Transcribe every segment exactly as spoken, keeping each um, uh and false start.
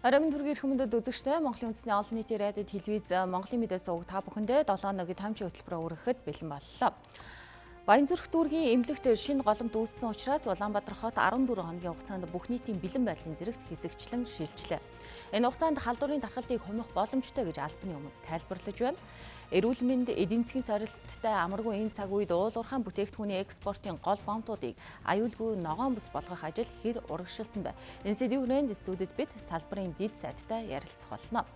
Оройн төргийн хүмүүдэд үзэгчтэй Монголын үндэсний олон нийтийн радио телевиз Монголын мэдээ суваг та бүхэндээ долоо хоногийн таймшиг хөтөлбөрөөр өргөхөд бэлэн боллоо. Баянзүрх дүүргийн эмнэлэгт шинэ голомт үүссэн учраас Улаанбаатар хот арван дөрвөн хоногийн хугацаанд бүх нийтийн бэлэн байдлын зэрэгт хэсэгчлэн шилжлээ. Энэ хугацаанд халдварын дархалтыг хумих боломжтой гэж албаны хүмүүс тайлбарлаж байна. Эрүүл мэнд, эдийн засгийн сорилттой амаргүй энэ цаг үед уулуурхаан бүтээгдэхүүний экспортын гол бомтуудыг аюулгүй ногоон бус болгох ажил хэр урагшилсан бэ? Энэ сэдвүүнд студид бид салбарын дэд сайдтай ярилцах болно.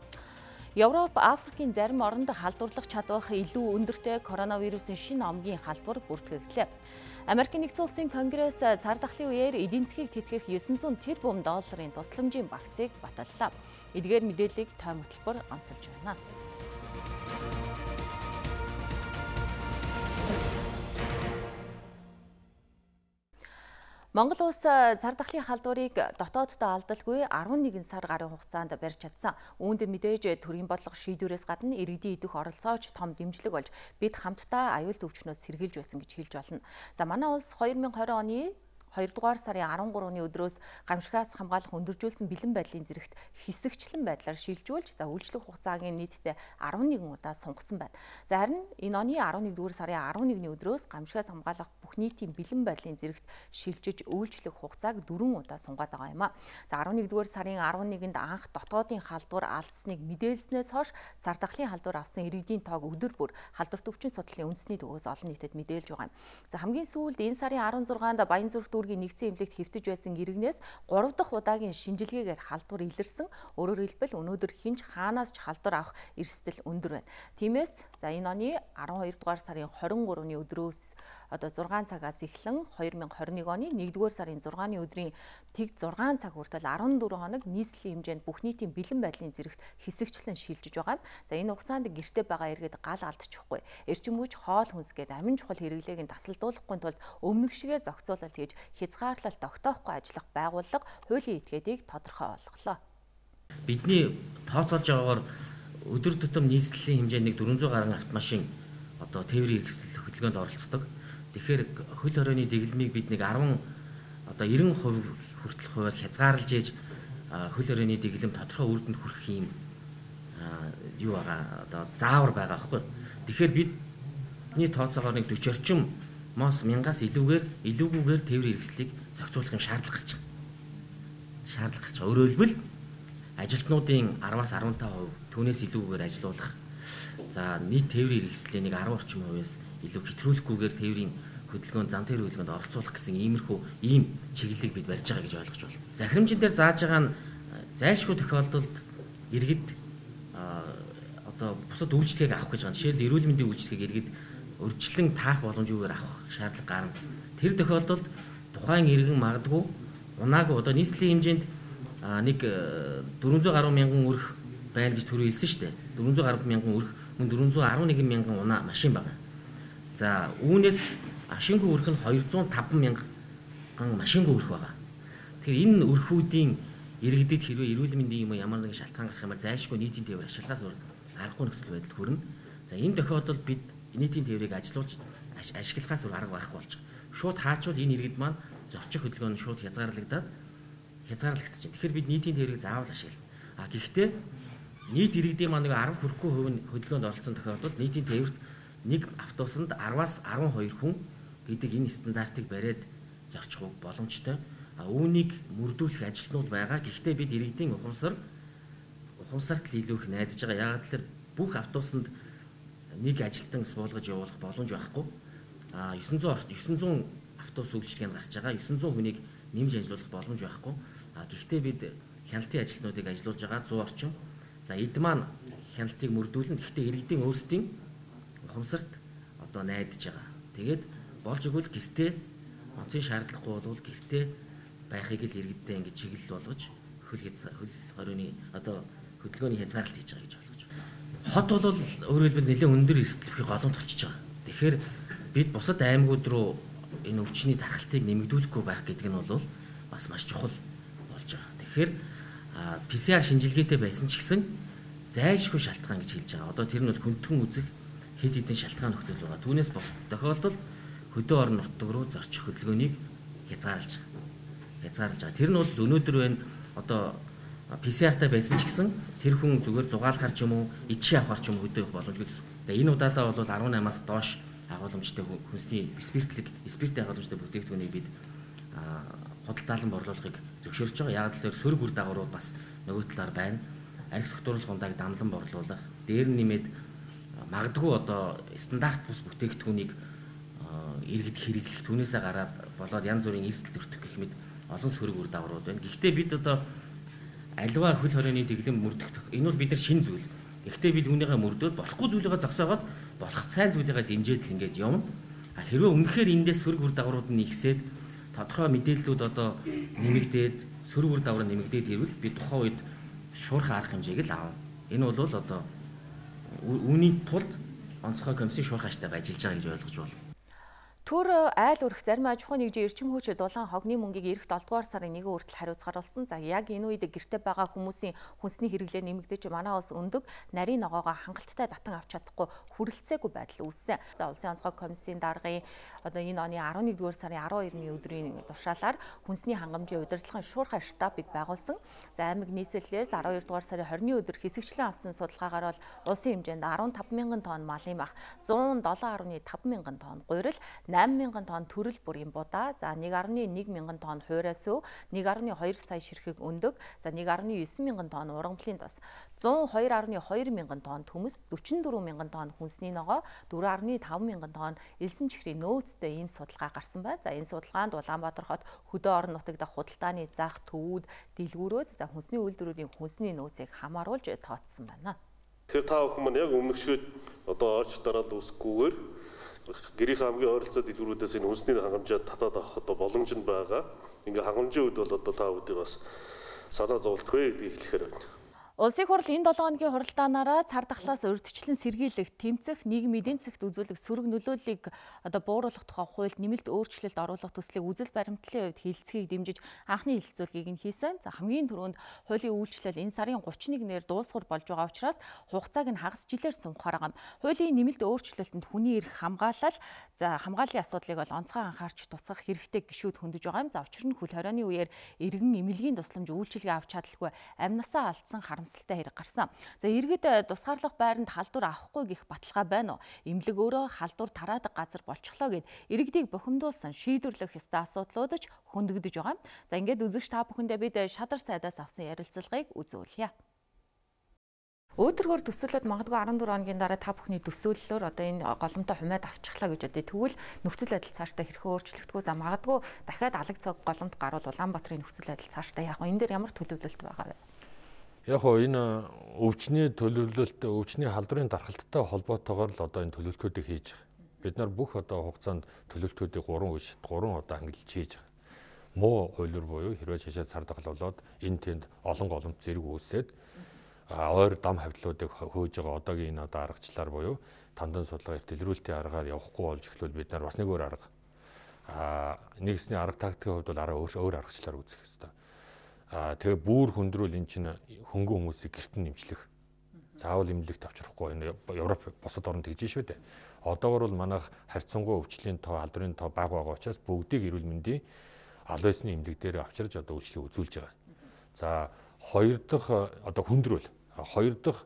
Европ, Африкийн зарим оронд халдварлах чадвар илүү өндөртэй коронавирусын шинэ омгийн халдвар бүртгэгдлээ. Америкийн нэгдсэн улсын конгресс цар тахлын үеэр эдийн засгийг тэтгэх девять hundred тэрбум долларын тусламжийн багцыг баталлаа. Эдгээр мэдээллийг тойм хөтөлбөр онцолж байна. Монгол улс цар тахлын халдварыг дотооддоо алдалгүй арван нэгэн сар гарын хугацаанд барьж чадсан. Үүнд мэдээж төрийн бодлого шийдвэрээс гадна иргэдийн идэх оролцооч том дэмжлэг болж бид хамтдаа аюул төвчнөөс сэргийлж байсан гэж хэлж болно. За манай улс two thousand twenty оны хоёрдугаар сарын арван гурваны өдрөөс гамшигаас хамгаалах өндөржүүлсэн бэлэн байдлын зэрэгт хэсэгчлэн байдлаар шилжүүлж за үйлчлэх хугацаагийн нийтдээ арван нэгэн удаа сунгасан байна. За харин энэ оны арван нэгдүгээр сарын арван нэгний өдрөөс гамшигаас хамгаалах бүх нийтийн бэлэн байдлын зэрэгт шилжиж үйлчлэх хугацааг дөрвөн удаа сунгаад байгаа юм а. За арван нэгдүгээр сарын арван нэгэнд анх дотоодын халдвар алдсныг мэдээлснээс хойш цар тахлын халдвар авсан иргэдийн тоог өдөр бүр халдвар төвчин судлалын үндэсний төгөөс олон нийтэд мэдээлж байгаа юм. За хамгийн сүүлд энэ сарын арван зургаанд Баянзүрх нэгдсэн эмнэлэгт хэвтэж байсан иргэнээс гурав дахь удаагийн шинжилгээгээр халдвар илэрсэн. Өөрөөр хэлбэл өнөөдөр хинч хаанаас ч халдвар авах эрсдэл өндөр байна. Тиймээс за энэ оны арван хоёр дугаар сарын хорин гурваны өдрөөс одоо зургаан цагаас эхлэн two thousand twenty-one оны нэгдүгээр сарын зургааны өдрийн тэг зургаан цаг хүртэл арван дөрвөн хоног нийслэлийн хэмжээнд бүх нийтийн бэлэн байдлын зэрэгт хэсэгчлэн шилжиж байгаа юм. За энэ хугацаанд гэртээ байгаа иргэд гал алдчихгүй. Эрчим хүч, хоол хүнс гээд амин чухал хэрэглээг нь тасалдуулахгүй тулд өмнөх шигээ зохицуулалт хийж хязгаарлалт тогтоохгүй ажиллах байгууллага хуулийн этгээдийг тодорхой олголоо. Бидний тооцоолж байгаагаар өдөр тутам нийслэлийн хэмжээний four hundred гаруй автомашин одоо тээврийн хэрэгсэл хөдөлгөөнд оролцдог. Тэгэхээр хөл хорионы дэглэмийг бид нэг ten одоо ninety percent хүртэл хуваар хязгаарлаж ээж хөл хорионы дэглэм тодорхой үр дүнд хүрэх юм юу байгаа одоо заавар байгаа байхгүй. Тэгэхээр бидний тооцоогоор нэг forty орчим мос мянгаас илүүгээр илүүгүйгээр тээврийн хэрэгслийг зохицуулах юм шаардлага гарч байгаа. Шаардлага гарч байгаа. Өөрөөр хэлбэл ажилтнуудын ten-аас fifteen percent түүнээс илүүгээр ажилуулах. За нийт тээврийн хэрэгслийн нэг ten орчим хувиас илүү хэтрүүлэхгүйгээр тээврийн хөдөлгөөнд зам тээврийн хөдөлгөөнд оролцуулах гэсэн иймэрхүү ийм чиглэлийг бид барьж байгаа гэж ойлгож байна. Захирамжийн дээр зааж байгаа нь зайлшгүй тохиолдолд иргэд одоо бусад үйлчлэгийг авах гэж байгаа. Жишээлбэл эрүүл мэндийн үйлчлэгийг иргэд урьдчилан таах боломжгүйгээр авах шаардлага гарна. Тэр тохиолдолд тухайн иргэн магадгүй унаагүй одоо нийслэлийн хэмжээнд нэг four hundred гаруй мянган өрх байна гэж түрүү хэлсэн шүү дээ. four hundred гаруй мянган өрх, мөн four hundred eleven мянган унаа машин байна. За үүнээс ашингүй өрх нь two hundred five мянган машингүй өрх байгаа. Тэгэхээр энэ өрхүүдийн иргэдэд хэрвээ эрүүл мэндийн юм ямар нэгэн шалтгаан гарах юм бол зайлшгүй нийтийн тээвэр ашиглахаас аргагүй нөхцөл байдал хүрнэ. За энэ тохиолдолд бид нийтийн тээврийг ажилуулж ашиглахаас өөр арга байхгүй болж байгаа. Шууд хаачвал энэ иргэд маань зорчих хөдөлгөөн шууд хязгаарлагдаад хязгаарлагдаж байна. Тэгэхээр бид нийтийн тээврийг заавал ашиглана. А гэхдээ нийт иргэдийн маань нэг ten хүрэхгүй хувь хөдөлгөөнд оролцсон тохиолдолд нийтийн тээвэрт нэг автобусанд ten-аас twelve хүн гэдэг энэ стандартыг бариад зорчих боломжтой. А үүнийг мөрдүүлэх ажилтнууд байгаа. Гэхдээ бид иргэдийн ухамсар ухамсарт л илүү их найдаж байгаа. Яг л бүх автобусанд нэг ажилтан суулгаж явуулах боломж байхгүй. А nine hundred nine hundred автобус үйлчлэгэнд гарч байгаа. nine hundred хүнийг нэмж ажиллуулах боломж байхгүй. А гэхдээ бид хяналтын ажилтнуудыг ажиллуулж байгаа one hundred орчим. За эд маань хяналтыг мөрдүүлнэ. Гэхдээ иргэдийн өөрсдийн ухамсарт одоо найдаж байгаа. Тэгээд болж игэл гэртээ онцгийн шаардлагагүй бол гэртээ байхыг л иргэдтэй ингэж чиглэл болгож хөл хөл хорионы одоо хөдөлгөөний хязгаарлалт хийж байгаа гэж ойлгож байна. Хот бол өөрөөр хэлбэл нэлээд өндөр эрсдэлтэй голомт болчихж байгаа. Тэгэхээр бид бусад аймагуд руу энэ өвчний тархалтыг нэмэгдүүлэхгүй байх гэдэг нь бол бас маш чухал болж байгаа. Тэгэхээр пи си ар шинжилгээтэй байсан ч гэсэн зайлшгүй шалтгаан гэж хэлж байгаа. Одоо тэр нь бол хүндхэн үзэх хэд хэдэн шалтгаан нөхцөл байгаа. Түүнээс бос тохиолдолд хөдөө орон нутаг руу зорчих хөдөлгөөнийг хязгаарлаж байгаа. Хязгаарлаж байгаа. Тэр нь бол өнөөдөр байна одоо пи си ар-тай байсан ч гэсэн тэр хүн зүгээр зугаалахар ч юм уу, ичээ авахар ч юм уу хөдөө явах боломжгүй гэсэн. Тэгээ энэ удаадаа бол арван наймаас доош агуулмжтай хүнсний спиртлэг, спирттэй агуулмжтай бүтээгдэхүүнийг бид худалдаалан борлуулахыг зөвшөөрч байгаа. Яг л тэр сөрөг үр дагаврууд бас нөгөө талаар байна. Арх согтууруулах ундааг дамлан борлуулах, дээр нь нэмээд магадгүй одоо стандарт бус бүтээгдэхүүнийг иргэд хэрэглэх, түүнээсээ гараад болоод янз бүрийн эрсдэл төртөх гэх мэт олон сөрөг үр дагаврууд байна. Гэхдээ бид одоо аливаа хөл хорионы дэглэм мөрдөх энэ бол бид нар шинэ зүйл. Гэхдээ бид үүнийгээ мөрдөөд болохгүй зүйлийгээ зогсоогоод болох сайн зүйлийгээ дэмжиж л ингэж явна. А хэрвээ үнэхээр эндээс сөрөг үр дагаврууд нь ихсээд тодорхой мэдээллүүд одоо нэмэгдээд сөрөг үр дагавар нэмэгдээд ирвэл би тухайн үед шуурхай арга хэмжээг л аав. Энэ бол одоо үүний тулд онцгой комиссийн шуурхай аштайгаа ажиллаж байгаа гэж ойлгож байна. Төр айл өрх зарим аж ахуйн нэгжийн эрчим хүч дулаан хогны мөнгийг эх долдугаар сарын нэгэн хүртэл хариуцгаар болсон. За яг энэ үед гэрте байгаа хүмүүсийн хүнсний хэрэглээ нэмэгдэж манай улс өндөг нарийн ногоогоо хангалттай татан авч чадахгүй хүрэлцээгүй байдал үүссэн. За улсын онцгой комиссийн даргын одоо энэ оны арван нэгдүгээр сарын арван хоёрны өдрийн тушаалаар хүнсний хангамжийн удирдлагын шуурхай штабыг байгуулсан. За аймаг нийслэлээс арван хоёрдугаар сарын хорины өдөр хэсэгчлэн авсан судалгаагаар бол улсын хэмжээнд арван таван мянган тонн малын мах, зуун долоон гаруй таван мянган тонн гурил, найман мянган тонн төрөл бүрийн будаа, за нэг гаруй нэг мянган тонн хуурай сүв, нэг гаруй хоёр сая ширхэг өндөг, за нэг гаруй девять мянган тонн ургамлын тос, зуун хоёр гаруй хоёр мянган тонн төмөс, дөрвөн дөрвөн мянган тонн хүнсний ногоо, дөрвөн гаруй таван мянган тонн элсэн чихрийн нөөцтэй ийм судалгаа гарсан байна. За энэ судалгаанд Улаанбаатар хот хөдөө орон нутаг дахь худалдааны зах, төвүүд, дэлгүүрүүд, за хүнсний үйлдвэрүүдийн хүнсний нөөцийг хамааруулж тооцсон байна. Тэгэхээр та бүхэн маань яг өмнөшөөд одоо оч дараал үүсгүйгээр гэрийнхээ хамгийн ойролцоо дэлгүүрүүдээс энэ хүнсний хангамжаа татаад авах одоо боломж нь байгаа. Ингээ хангамжийн үед бол одоо та бүдийг бас санаа зовлтгүй гэдгийг хэлэхээр байна. Улсын хурал энэ долоо хоногийн хуралдаанаараа цар тахлаас урьдчилан сэргийлэх, тэмцэх, нийгмийн эдийн засагт үзүүлэх сөрөг нөлөөллийг одоо бууруулах тухай хуульд нэмэлт өөрчлөлт оруулах төслийг үзэл баримтлалын хувьд хилцгийг дэмжиж анхны хэлэлцүүлгийг нь хийсэн. За хамгийн түрүүнд хуулийн үйлчлэл энэ сарын гуравч нэгнээр дуусгар болж байгаа учраас хугацааг нь хагас жилээр сунгахаар байгаа. Хуулийн нэмэлт өөрчлөлтөнд хүний эрх хамгаалал, за хамгааллын асуудлыг бол онцгой анхаарч тусгах хэрэгтэй гишүүд хөндөж байгаа юм. За учир нь хөл хорионы үеэр иргэн эмнэлгийн тусламж үйлчилгээ авч чадалгүй амнасаа алдсан харамсалтай хэрэг гарсан. За иргэд тусгаарлах байранд халдвар авахгүй гэх баталгаа байна уу? Эмнэлэг өөрөө халдвар тараадаг газар болчихлоо гэд иргэдийг бухимдуулсан шийдвэрлэх ёстой асуудлууд ч хөндөгдөж байгаа. За ингээд үзэгч та бүхэндээ бид шадар сайдаас авсан ярилцлагыг үзүүлье. Өөдрөгөр төсөөлөд магадгүй арван дөрвөн хоногийн дараа та бүхний төсөөллөөр одоо энэ голомтой хумаад авчихлаа гэж бодъё. Тэгвэл нөхцөл байдал цаашдаа хэрхэн өөрчлөгдөхөө, за магадгүй дахиад алаг цаг голомт гарвал Улаанбаатарын нөхцөл байдал цаашдаа яах вэ? Энэ дээр ямар төлөвлөлт байгаа вэ? Яг хоо энэ өвчний төлөвлөлт, өвчний халдварын дархалттай холбоотойгоор л одоо энэ төлөвлөлтүүдийг хийж байгаа. Бид нар бүх одоо хугацаанд төлөвлөлтүүдийг гурван үе, гурван одоо ангилж хийж байгаа. Муу хуулиур буюу хэрвээ шашаа цар тахал болоод энэ тэнд олон голомт зэрэг үүсээд ойр дам хавьтлуудыг хөөж байгаа одоогийн энэ одоо аргачлаар буюу тандан судалгаа дэлгэрүүлэлтийн аргаар явахгүй болж эхлүүл бид нар бас нэг өөр арга а нэгсний арга тактикийн хувьд бол арга өөр өөр аргачлаар үзэх хэрэгтэй. А тэгээ бүр хөндрүүл эн чинь хөнгөн хүмүүсийг гэрт нь нэмчлэх. Заавал эмнэлэгт авчрахгүй энэ Европ бусад орнд тэгж шүү дээ. Одоогор бол манайх харьцангуй өвчлийн тоо, алдрын тоо бага байгаа учраас бүгдийг эрүүл мэндийн аль байсны эмнэлэг дээр авчирж одоо үйлчлэг үзүүлж байгаа. За хоёр дахь одоо хөндрүүл. Хоёр дахь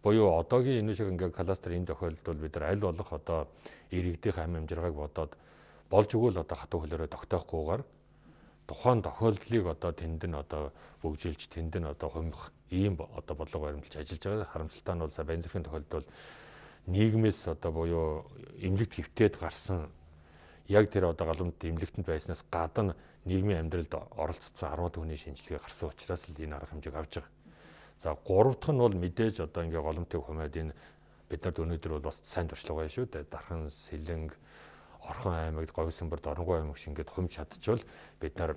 буюу одоогийн энэ шиг ингээ кластер энэ тохиолдолд бид нар аль болох одоо иргэдийн амь амжиргааг бодоод болж өгөөл одоо хатуу хөлөөрөө тогтоохгүйгээр тухайн тохиолдлыг одоо тэнд нь одоо бөгжүүлж тэнд нь одоо хумих ийм одоо бодлого баримталж ажиллаж байгаа. Харамсалтай нь бол за байн зэргийн тохиолдолд нийгмээс одоо буюу эмнэлэгт хөвтөд гарсан яг тэр одоо галамт эмнэлэгтэнд байснаас гадна нийгмийн амьдралд оролцсон арваад хүний шинжилгээ гарсан учраас л энэ арга хэмжээг авч байгаа. За гурав дахь нь бол мэдээж одоо ингээ голомтыг хумаад энэ бид нарт өнөөдөр бол бас сайн туршлага байна шүү дээ. Дархан, Сэлэнг, Орхон аймагт, Говьсөнбөрт, Оронгой аймаг шингээд хумж чадчихвал бид нар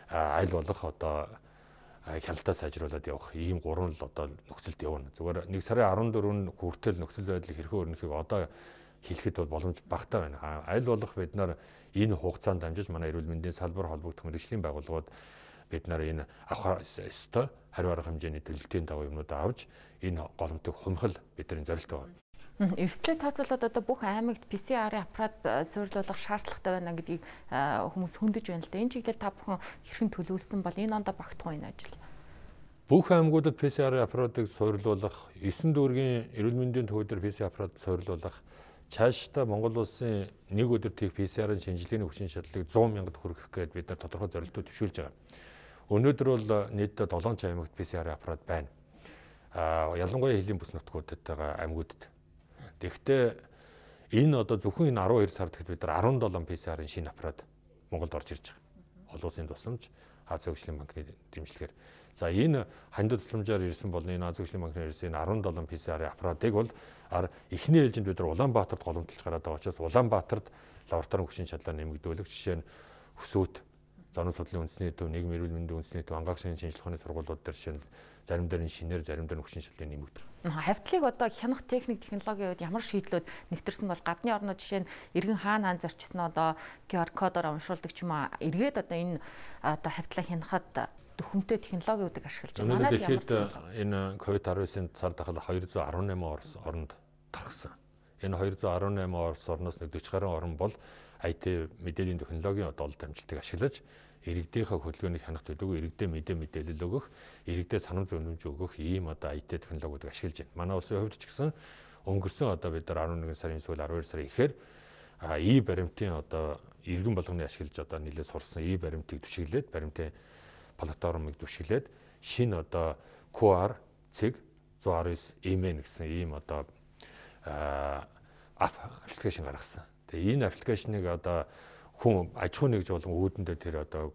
аль болох одоо хяналтаа сайжруулад явах ийм гурван л одоо нөхцөлд явна. Зүгээр нэг сарын арван дөрөвнд хүртэл нөхцөл байдлыг хэрхэн өрнөхийг одоо хэлэхэд бол боломж багтаа байна. Аль болох бид нар энэ хугацаанд дамжиж манай эрүүл мэндийн салбар холбогдох мэргэжлийн байгууллагууд бид нар энэ авах ёстой хариу арга хэмжээний төлөлтийн даваа юмнуудаа авч энэ голомтыг хумхал бидний зорилт байна. Эрсдлээ тооцоолоод одоо бүх аймагт пи си ар-ын аппарат суйрлуулах шаардлагатай байна гэдгийг хүмүүс хөндөж байна л да. Энэ чиглэл та бүхэн хэрхэн төлөвлөсөн бол энэ онд багтахгүй энэ ажил. бүх аймагуудад пэ цэ ар аппаратыг суйрлуулах, есөн дүүргийн эрүүл мэндийн төвөдөр пэ цэ ар аппарат суйрлуулах, цаашдаа Монгол улсын нэг өдөр тех пэ цэ арын шинжилгээний хүчин чадлыг зуун мянгад хүргэх гээд бид нар тодорхой зорилтууд төвшүүлж байгаа. Өнөөдөр бол нийтдээ долоон аймагт пэ цэ ар аппарат байна. А ялангуяа хэлийн бүс нутгуудад байгаа аймагуудад. Тэгэхдээ энэ одоо зөвхөн энэ арван хоёр сард гэхэд бид нар арван долоон пэ цэ арын шинэ аппарат Монголд орж ирж байгаа. Олон улсын тусламж, Азийн хөгжлийн банкны дэмжлэгээр. За энэ хандив тусламжаар ирсэн бол энэ Азийн хөгжлийн банкны ирсэн энэ арван долоон пэ цэ арын аппаратыг бол эхний ээлжинд бид нар Улаанбаатарт голомтолж гараад байгаа учраас Улаанбаатарт лабораторийн хүчин чадлаа нэмэгдүүлэх, жишээ нь Өсөөт, Зануун судлалын үндэсний төв, нийгмийн эрүүл мэндийн үндэсний төв, ангаахшийн шинжилгээ ухааны сургуулиуд дээр жишээ нь зарим дээр нь шинээр, зарим дээр нь хүчин чадлын нэмэгдэх. Хавьтлыг одоо хянах техник, технологийн үед ямар шийдлүүд нэвтэрсэн бол гадны орнууд жишээ нь иргэн хаана хаан зорчсон одоо ку ар кодоор уншуулдаг ч юм уу эргээд одоо энэ одоо хавьтлаа хянахад төхөмтэй технологиудыг ашиглаж байгаа. Манайд ямар энэ ковид арван девятын цар тахал хоёр зуун арван найман оронд тархсан. Энэ хоёр зуун арван найман орноос нэг дөрвөн гаруй орн бол ай ти мэдээллийн технологийн одоо олд амжилтыг ашиглаж иргэдийнхээ хөдөлгөөнийг хянах төлөвлөгөө, иргэдэд мэдээ мэдээлэл өгөх, иргэдэд санам зөвлөмж өгөх ийм одоо ай ти технологиудыг ашиглаж байна. Манай улсын хувьд ч гэсэн өнгөрсөн одоо бид нар арван нэгэн сарын сүүл арван хоёр сарын ихээр и баримтын одоо иргэн болгоны ашиглаж одоо нэлээд сурсан и баримтыг түшиглээд, баримтын платформыг түшиглээд шинэ одоо ку ар цэг зуун арван девять эм эн гэсэн ийм одоо аппликейшн гаргасан. Тэгээ энэ аппликейшнийг одоо хүн аж ахуй нэгж болон өөдөндөө тэр одоо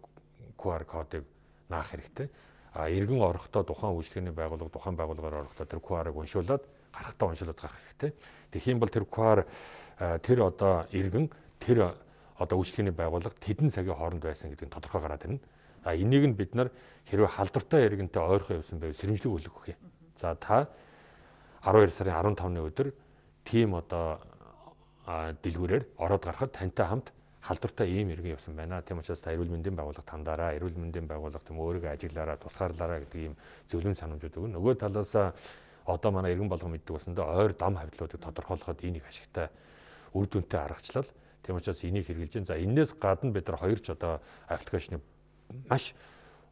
ку ар кодыг наах хэрэгтэй. А иргэн орохдоо тухайн үйлчлэгээний байгууллага, тухайн байгууллагаар орохдоо тэр ку ар-ыг уншуулад гарахтаа уншуулад гарах хэрэгтэй. Тэгэх юм бол тэр ку ар тэр одоо иргэн тэр одоо үйлчлэгээний байгууллага тэдэн цагийн хооронд байсан гэдэг нь тодорхой гараад ирнэ. А энийг нь бид нар хэрвээ халдвартай иргэнтэй ойрхон явсан байвал сэрэмжлэг үлгэх өгье. За та арван хоёр сарын арван тавны өдөр тийм одоо дэлгүүрээр ороод гарахад тантай хамт халдвартай ийм иргэн явсан байна. Тийм учраас та эрүүл мэндийн байгууллага тандаараа, эрүүл мэндийн байгууллага тийм өөрийгөө ажиглаараа, тусгаарлаараа гэдэг ийм зөвлөм санамжууд өгнө. Нөгөө талаас одоо манай иргэн болгон мэддэг болсондоо ойр дам хавьтлуудыг тодорхойлоход энийг ашигтай үр дүнтэй аргачлал. Тийм учраас энийг хэрэгжилж байна. За энээс гадна бид нар хоёр ч одоо аппликейшнийг маш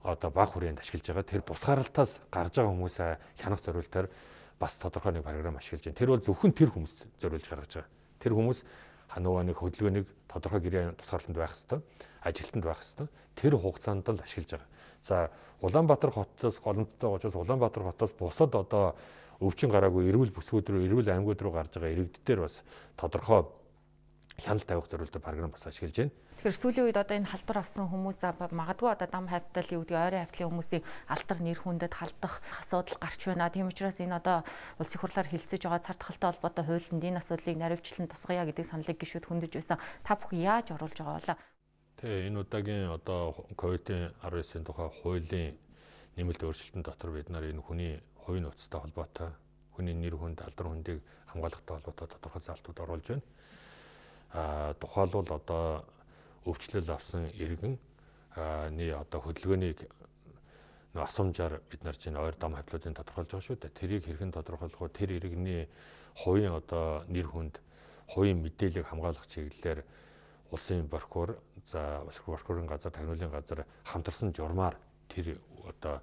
одоо бага хүрээнд ашиглаж байгаа. Тэр тусгаарлалтаас гарч байгаа хүмүүсээ хянах зорилтоор бас тодорхой нэг програм ашиглаж байна. Тэр бол зөвхөн тэр хүмүүс зориулж гаргаж байгаа. Тэр хүмүүс ханууга нэг хөдөлгөөнийг тодорхой гэрээ тусгаарлалтанд байх хэвээр, ажилтнанд байх хэвээр тэр хугацаанд л ашиглаж байгаа. За Улаанбаатар хотоос голомттой очоод Улаанбаатар хотоос бусад одоо өвчин гараагүй эрүүл бүсгүүд рүү, эрүүл аймагуд руу гарч байгаа иргэддээр бас тодорхой хяналт тавих зорилттой програм бас ашиглаж байна. Тэгэхээр сүүлийн үед одоо энэ халдвар авсан хүмүүс магадгүй одоо дам хавьтал юу гэдэг ойрын хавьтлын хүмүүсийн алдар нэр хүндэд халдах асуудал гарч байна. Тийм учраас энэ одоо улсын хурлаар хэлцэж байгаа цар тахалтай холбоотой хуулинд энэ асуудлыг наривчлан тусгая гэдэг саналыг гишүүд хөндөж байсан. Та бүхэн яаж оруулж байгаа вэ? Тэгээ энэ удаагийн одоо ковидын арван девятын тухай хуулийн нэмэлт өөрчлөлтөн дотор бид нар энэ хүний хувийн нууцтай холбоотой, хүний нэр хүнд, алдар хүндийг хамгаалахтай холбоотой тодорхой заалтууд оруулж байна. А тухайлбал одоо өвчлөл авсан иргэн ний одоо хөдөлгөөнийг нөө асуумжаар бид нар чинь ойр дам хавьтлуудыг тодорхойлж байгаа шүү дээ. Тэрийг хэрхэн тодорхойлох вэ? Тэр иргэний хувийн одоо нэр хүнд, хувийн мэдээллийг хамгаалах чиглэлээр улсын прокурор, за прокурорын газар, тагнуулын газар хамтарсан журмаар тэр одоо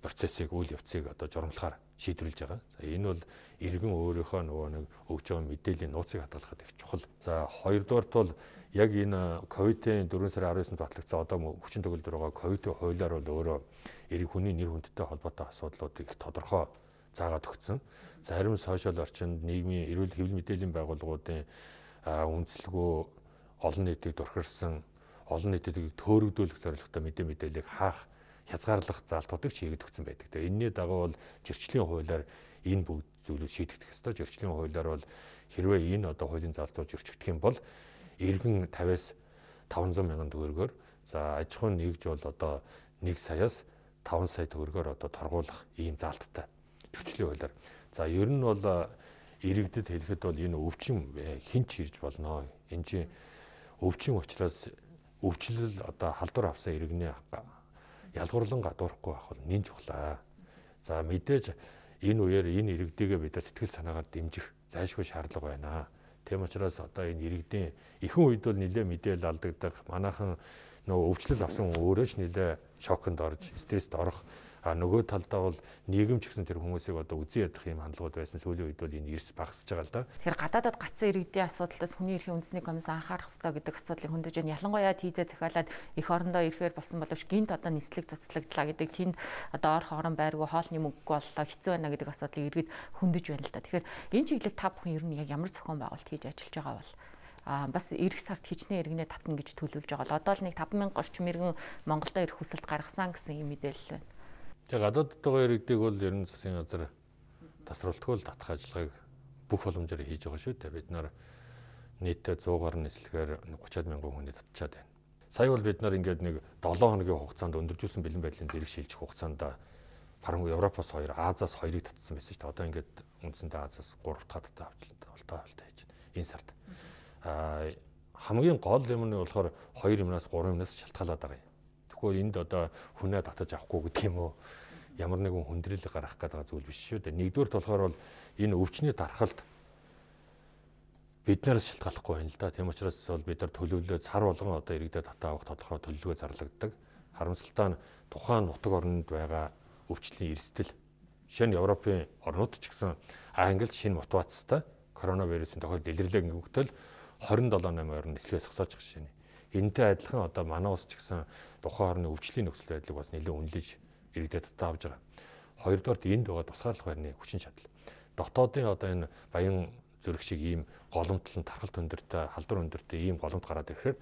процессыг, үйл явцыг одоо журамлахаар шийдвэрлэж байгаа. За энэ бол иргэн өөрийнхөө нөгөө нэг өгж байгаа мэдээллийн нууцыг хадгалахад их чухал. За хоёрдугаарт бол яг энэ ковидын дөрвөн сарын арван девятнд батлагдсан одоо хүчин төгөлдөр байгаа ковидын хуулиар бол өөрөө иргэн хүний нэр хүндтэй холбоотой асуудлуудыг их тодорхой заагаад өгсөн. Зарим сошиал орчинд нийгмийн эрүүл хэвлэл мэдээллийн байгууллагуудын үндэслэгөө олон нийтийг дурхирсан, олон нийтийг төөрөгдүүлэх зорилготой мэдээ мэдээллийг хаах, хязгаарлах заалтуудыг чийгэд өгсөн байдаг. Тэгээ энэний дагуу бол зөрчлийн хуулиар энэ бүгд зүйлүүд шийдэгдэх ёстой. Зөрчлийн хуулиар бол хэрвээ энэ одоо хуулийн заалтууд зөрчигдөх юм бол иргэн тавиас таван зуун мянган төгрөгөөр, за аж ахуйн нэгж бол одоо нэг саяас таван сая төгрөгөөр одоо торгуулах ийм заалттай зөрчлийн хуулиар. За ер нь бол иргэдэд хэлэхэд бол энэ өвчин хинч ирж болно. Энэ чинь өвчин учраас өвчлөл одоо халдвар авсан иргэний ялгуурлан гадуурахгүй байх бол нэн чухлаа. За мэдээж энэ үеэр энэ иргэдийгээ бид сэтгэл санаагаар дэмжих зайлшгүй шаардлага байна. Тийм учраас одоо энэ иргэдийн ихэнх үед бол нэлээ мэдээлэл алдагдах, манайхан нөгөө өвчлөл авсан хүн өөрөө ч нэлээ шоконд орж, стресст орох, А нөгөө талдаа бол нийгэм ч гэсэн тэр хүмүүсийг одоо үзэн ядах юм хандлагууд байсан сүүлийн үед бол энэ эрс багасж байгаа л да. Тэгэхээр гадаадад гацсан иргэдийн асуудлаас хүний эрхийн үндэсний комисс анхаарах ёстой гэдэг асуудлыг хөндөж байна. Ялангуяа тийзээ захиалаад эх орондоо ирэхээр болсон боловч гинт одоо нислэг цуцлагдлаа гэдэг тэнд одоо ор хоорон байргүй хоолны мөнгө боллоо хэцүү байна гэдэг асуудлыг иргэд хөндөж байна л да. Тэгэхээр энэ чиглэлд та бүхэн ер нь яг ямар зохион байгуулалт хийж ажиллаж байгаа бол а бас эх сард хичнээн иргэнэ татна гэж төлөвлөж байгаа. Одоо л нэг таван мянга орчим иргэн Монголдо ирэх хүсэлт гаргасан гэсэн юм мэдээлэл байна. Тэгээ гадаадд байгаа иргэдийг бол ер нь засгийн газар тасралтгүй л татах ажиллагааг бүх боломжоор хийж байгаа шүү дээ. Бид нар нийтдээ сто гаруй нислэгээр гуйчаад мянган хүний татчаад байна. Сая бол бид нар ингээд нэг долоон хоногийн хугацаанд өндөржүүлсэн бэлэн байдлын зэрэг шилжих хугацаанд баруун Европоос хоёр, Азаас хоёрыг татсан байсан шүү дээ. Одоо ингээд үндсэндээ Азаас гурав дахь таттай авчлаа. Олтой авалтай хийж байна. Энэ сард. Аа хамгийн гол юм нь болохоор хоёр юмнаас гурван юмнаас шалтгаалаад байгаа юм. Тэгэхгүй энд одоо хүнээ татаж авахгүй гэдэг юм уу? Ямар нэгэн хүндрэлийг гаргах гэдэг зүйл биш шүү дээ. Нэгдүгээрт болохоор бол энэ өвчний дархалт биднээс шалтгааллахгүй байна л да. Тийм учраас бол бид нар төлөвлөлөө цар болгон одоо иргэдэд татаа авах тодорхой төлөвлөгөө зарлагддаг. Харамсалтай нь тухайн нутаг орнд байгаа өвчтлийн эрсдэл жишээ нь Европын орнууд ч гэсэн Англид шинэ мутацтай коронавирусын тохиолдол илэрлээ гингүүтэл двадцать seven eight орн нислэгээс зогсооч гэж шинэ. Энтэй адилхан одоо манай улс ч гэсэн тухайн орны өвчтлийн нөхцөл байдлыг бас нэлээд үнэлж иргэдэд татаа авч байгаа. Хоёрдугаарт энд байгаа тусгаарлах байрны хүчин чадал. Дотоодын одоо энэ баян зүрх шиг ийм голомтлон тархалт өндөртэй, халдвар өндөртэй ийм голомт гараад ирэхээр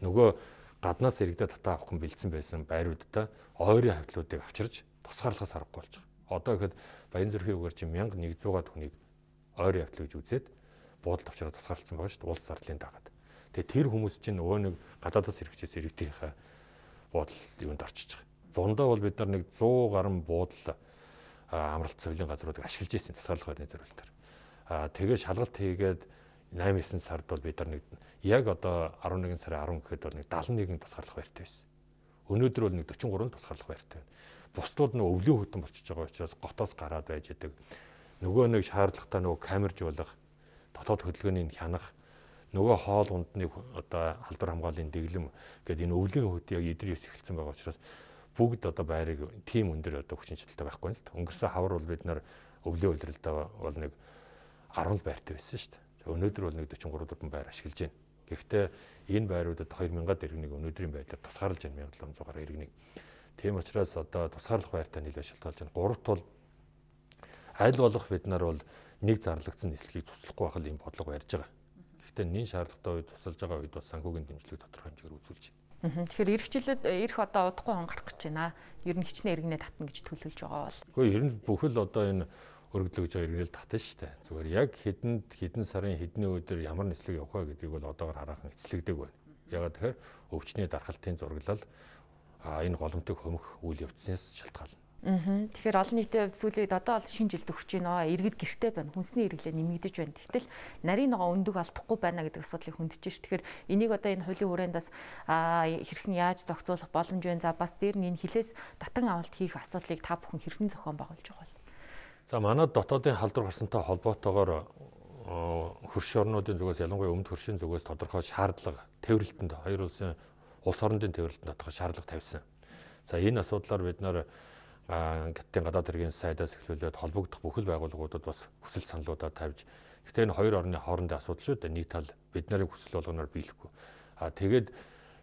нөгөө гаднаас иргэдэд татаа авах хүн бэлдсэн байсан байруудтай ойрын хавьтлуудыг авчирж тусгаарлахаас аргагүй болж байгаа. Одоо ихэд баян зүрхийн үгээр чинь one thousand one hundred хүнийг ойрын хавьтлыг үзээд буудалд авчираад тусгаарлсан байгаа шүү дээ. Улс зарлын дагаад. Тэгээ тэр хүмүүс чинь нөгөө нэг гадаадаас иргэжээс иргэдийнхээ буудал юунд орчиж байгаа. Зундаа бол бид нар нэг сто гаруй буудал амралт цэвлийн газруудыг ашиглаж ирсэн тусгаарлах байрны зорилтоор. Аа тэгээ шалгалт хийгээд eight nine сард бол бид нар нэг яг одоо eleven сарын ten гэхэд бол нэг seventy-one тусгаарлах байртай байсан. Өнөөдөр бол нэг forty-three тусгаарлах байртай байна. Бусдууд нэг өвлийн хөтөн болчихж байгаа учраас готоос гараад байж идэг. Нөгөө нэг шаардлагатай нөгөө камержуулах, дотоод хөдөлгөөнийг хянах, нөгөө хоол ундны одоо халдвар хамгааллын дэглэм гэдэг энэ өвлийн хөт яг эдэр ес эхэлсэн байгаа учраас бүгд одоо байрыг тим өндөр одоо хүчин чадалтай байхгүй нь л. Өнгөрсөн хавар бол бид нар өвлийн үйлрэлдээ бол нэг ten байртай байсан шүү дээ. Өнөөдөр бол нэг forty-three дөрвөн байр ашиглаж байна. Гэхдээ энэ байруудад two thousand иргэнийг өнөөдрийн байдлаар тусгаарлаж байна seven thousand seven hundred иргэнийг. Тийм учраас одоо тусгаарлах байртай нэлээд шалтгаалж байна. Гуравт бол аль болох бид нар бол нэг зарлагдсан нислэгийг туслахгүй байх л юм бодлого барьж байгаа. Гэхдээ нэн шаардлагатай үед тусалж байгаа үед бас санхүүгийн дэмжлэг тодорхой хэмжээгээр үзүүлж байна. Тэгэхээр ирэх жилд ирэх одоо удахгүй он гарах гэж байна. Ер нь хичнээн иргэнэ татна гэж төлөвлөж байгаа бол. Гэхдээ ер нь бүхэл одоо энэ өргөдлөж байгаа иргэнэл татна шүү дээ. Зүгээр яг хэдэн хэдэн сарын хэдний өдөр ямар нислэг явах вэ гэдгийг бол одоогоор хараахан эцэлэгдэг байна. Ягаад тэгэхээр өвчний дархалтын зураглал энэ голомтыг хөмөх үйл явдлаас шалтгаална. Аа. Тэгэхээр олон нийтийн хувьд сүүлийн одоо бол шинэ жилд өгч байна. Иргэд гэртэй байна. Хүнсний хэрэглээ нэмэгдэж байна. Гэтэл нарийн ногоо өндөг алдахгүй байна гэдэг асуудлыг хөндөж ш. Тэгэхээр энийг одоо энэ хуулийн хүрээндээс хэрхэн яаж зохицуулах боломж вэ? За бас дээр нь энэ хилээс татан авалт хийх асуудлыг та бүхэн хэрхэн зохион байгуулж байгаа вэ? За манай дотоодын халдвар гарсантай холбоотойгоор хөрш орнуудын зүгээс ялангуяа өмнөд хөршийн зүгээс тодорхой шаардлага тээвэрлэлтэнд хоёр улсын улс орондын тээвэрлэлтэнд тодорхой шаардлага тавьсан. За энэ асуудлаар бид нар Гаттын гадаад хэргийн сайдаас эхлүүлээд холбогдох бүхэл байгууллагуудад бас хүсэл саналуудаа тавьж гэхдээ энэ хоёр орны хоорондын асуудал шүү дээ. Нэг тал бид нарын хүсэл болгоноор биелэхгүй. А тэгээд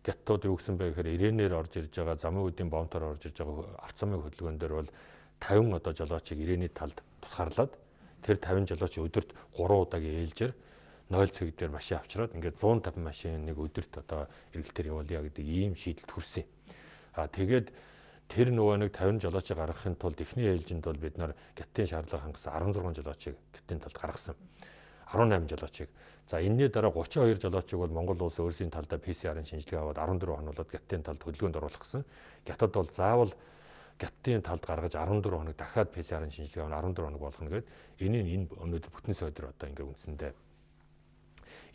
Гаттууд юу гэсэн бэ гэхээр ирээнээр орж ирж байгаа замын үдийн бомтоор орж ирж байгаа авто замын хөдөлгөөн дээр бол fifty одоо жолоочийг ирээний талд тусгаарлаад тэр fifty жолооч өдөрт three удаагийн ээлжээр ноль цаг дээр машин авчираад ингээд one fifty машин нэг өдөрт одоо эргэлтээр явуулъя гэдэг ийм шийдэлд хүрсэн. А тэгээд тэр нөгөө нэг fifty жолоочийг гаргахын тулд эхний ээлжинд бол бид нар Гаттын шаардлага хангасан sixteen жолоочийг Гаттын талд гаргасан. eighteen жолоочийг. За энэний дараа thirty-two жолоочийг бол Монгол улс өөрсдийн талдаа пи си ар-ын шинжилгээ аваад fourteen хоногт Гаттын талд хөдөлгөөнд оруулах гэсэн. Гятад бол заавал Гаттын талд гаргаж fourteen хоног дахиад пи си ар-ын шинжилгээ аваад fourteen хоног болгоно гэдэг. Энийг энэ өнөөдөр бүтэн сойдор одоо ингээ үндсэндээ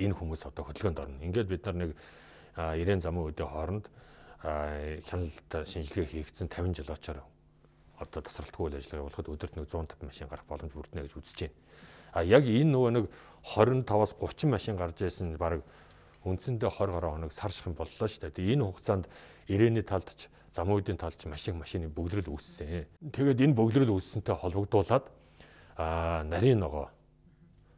энэ хүмүүс одоо хөдөлгөөнд орно. Ингээд бид нар нэг нine замын үеийн хооронд хяналт шинжилгээ хийгдсэн fifty жолоочоор одоо тасралтгүй үйл ажиллагаа явуулахад өдөрт нэг one fifty машин гарах боломж бүрднэ гэж үзэж байна. А яг энэ нөгөө нэг twenty-five-аас thirty машин гарч байсан баг үндсэндээ twenty гаруй хоног сар шахын боллоо шүү дээ. Энэ хугацаанд ирээний талд ч замуудын талч маш их машины бөглөрөл үүссэн. Тэгээд энэ бөглөрөл үүссэнтэй холбогдуулаад аа нарийн ногоо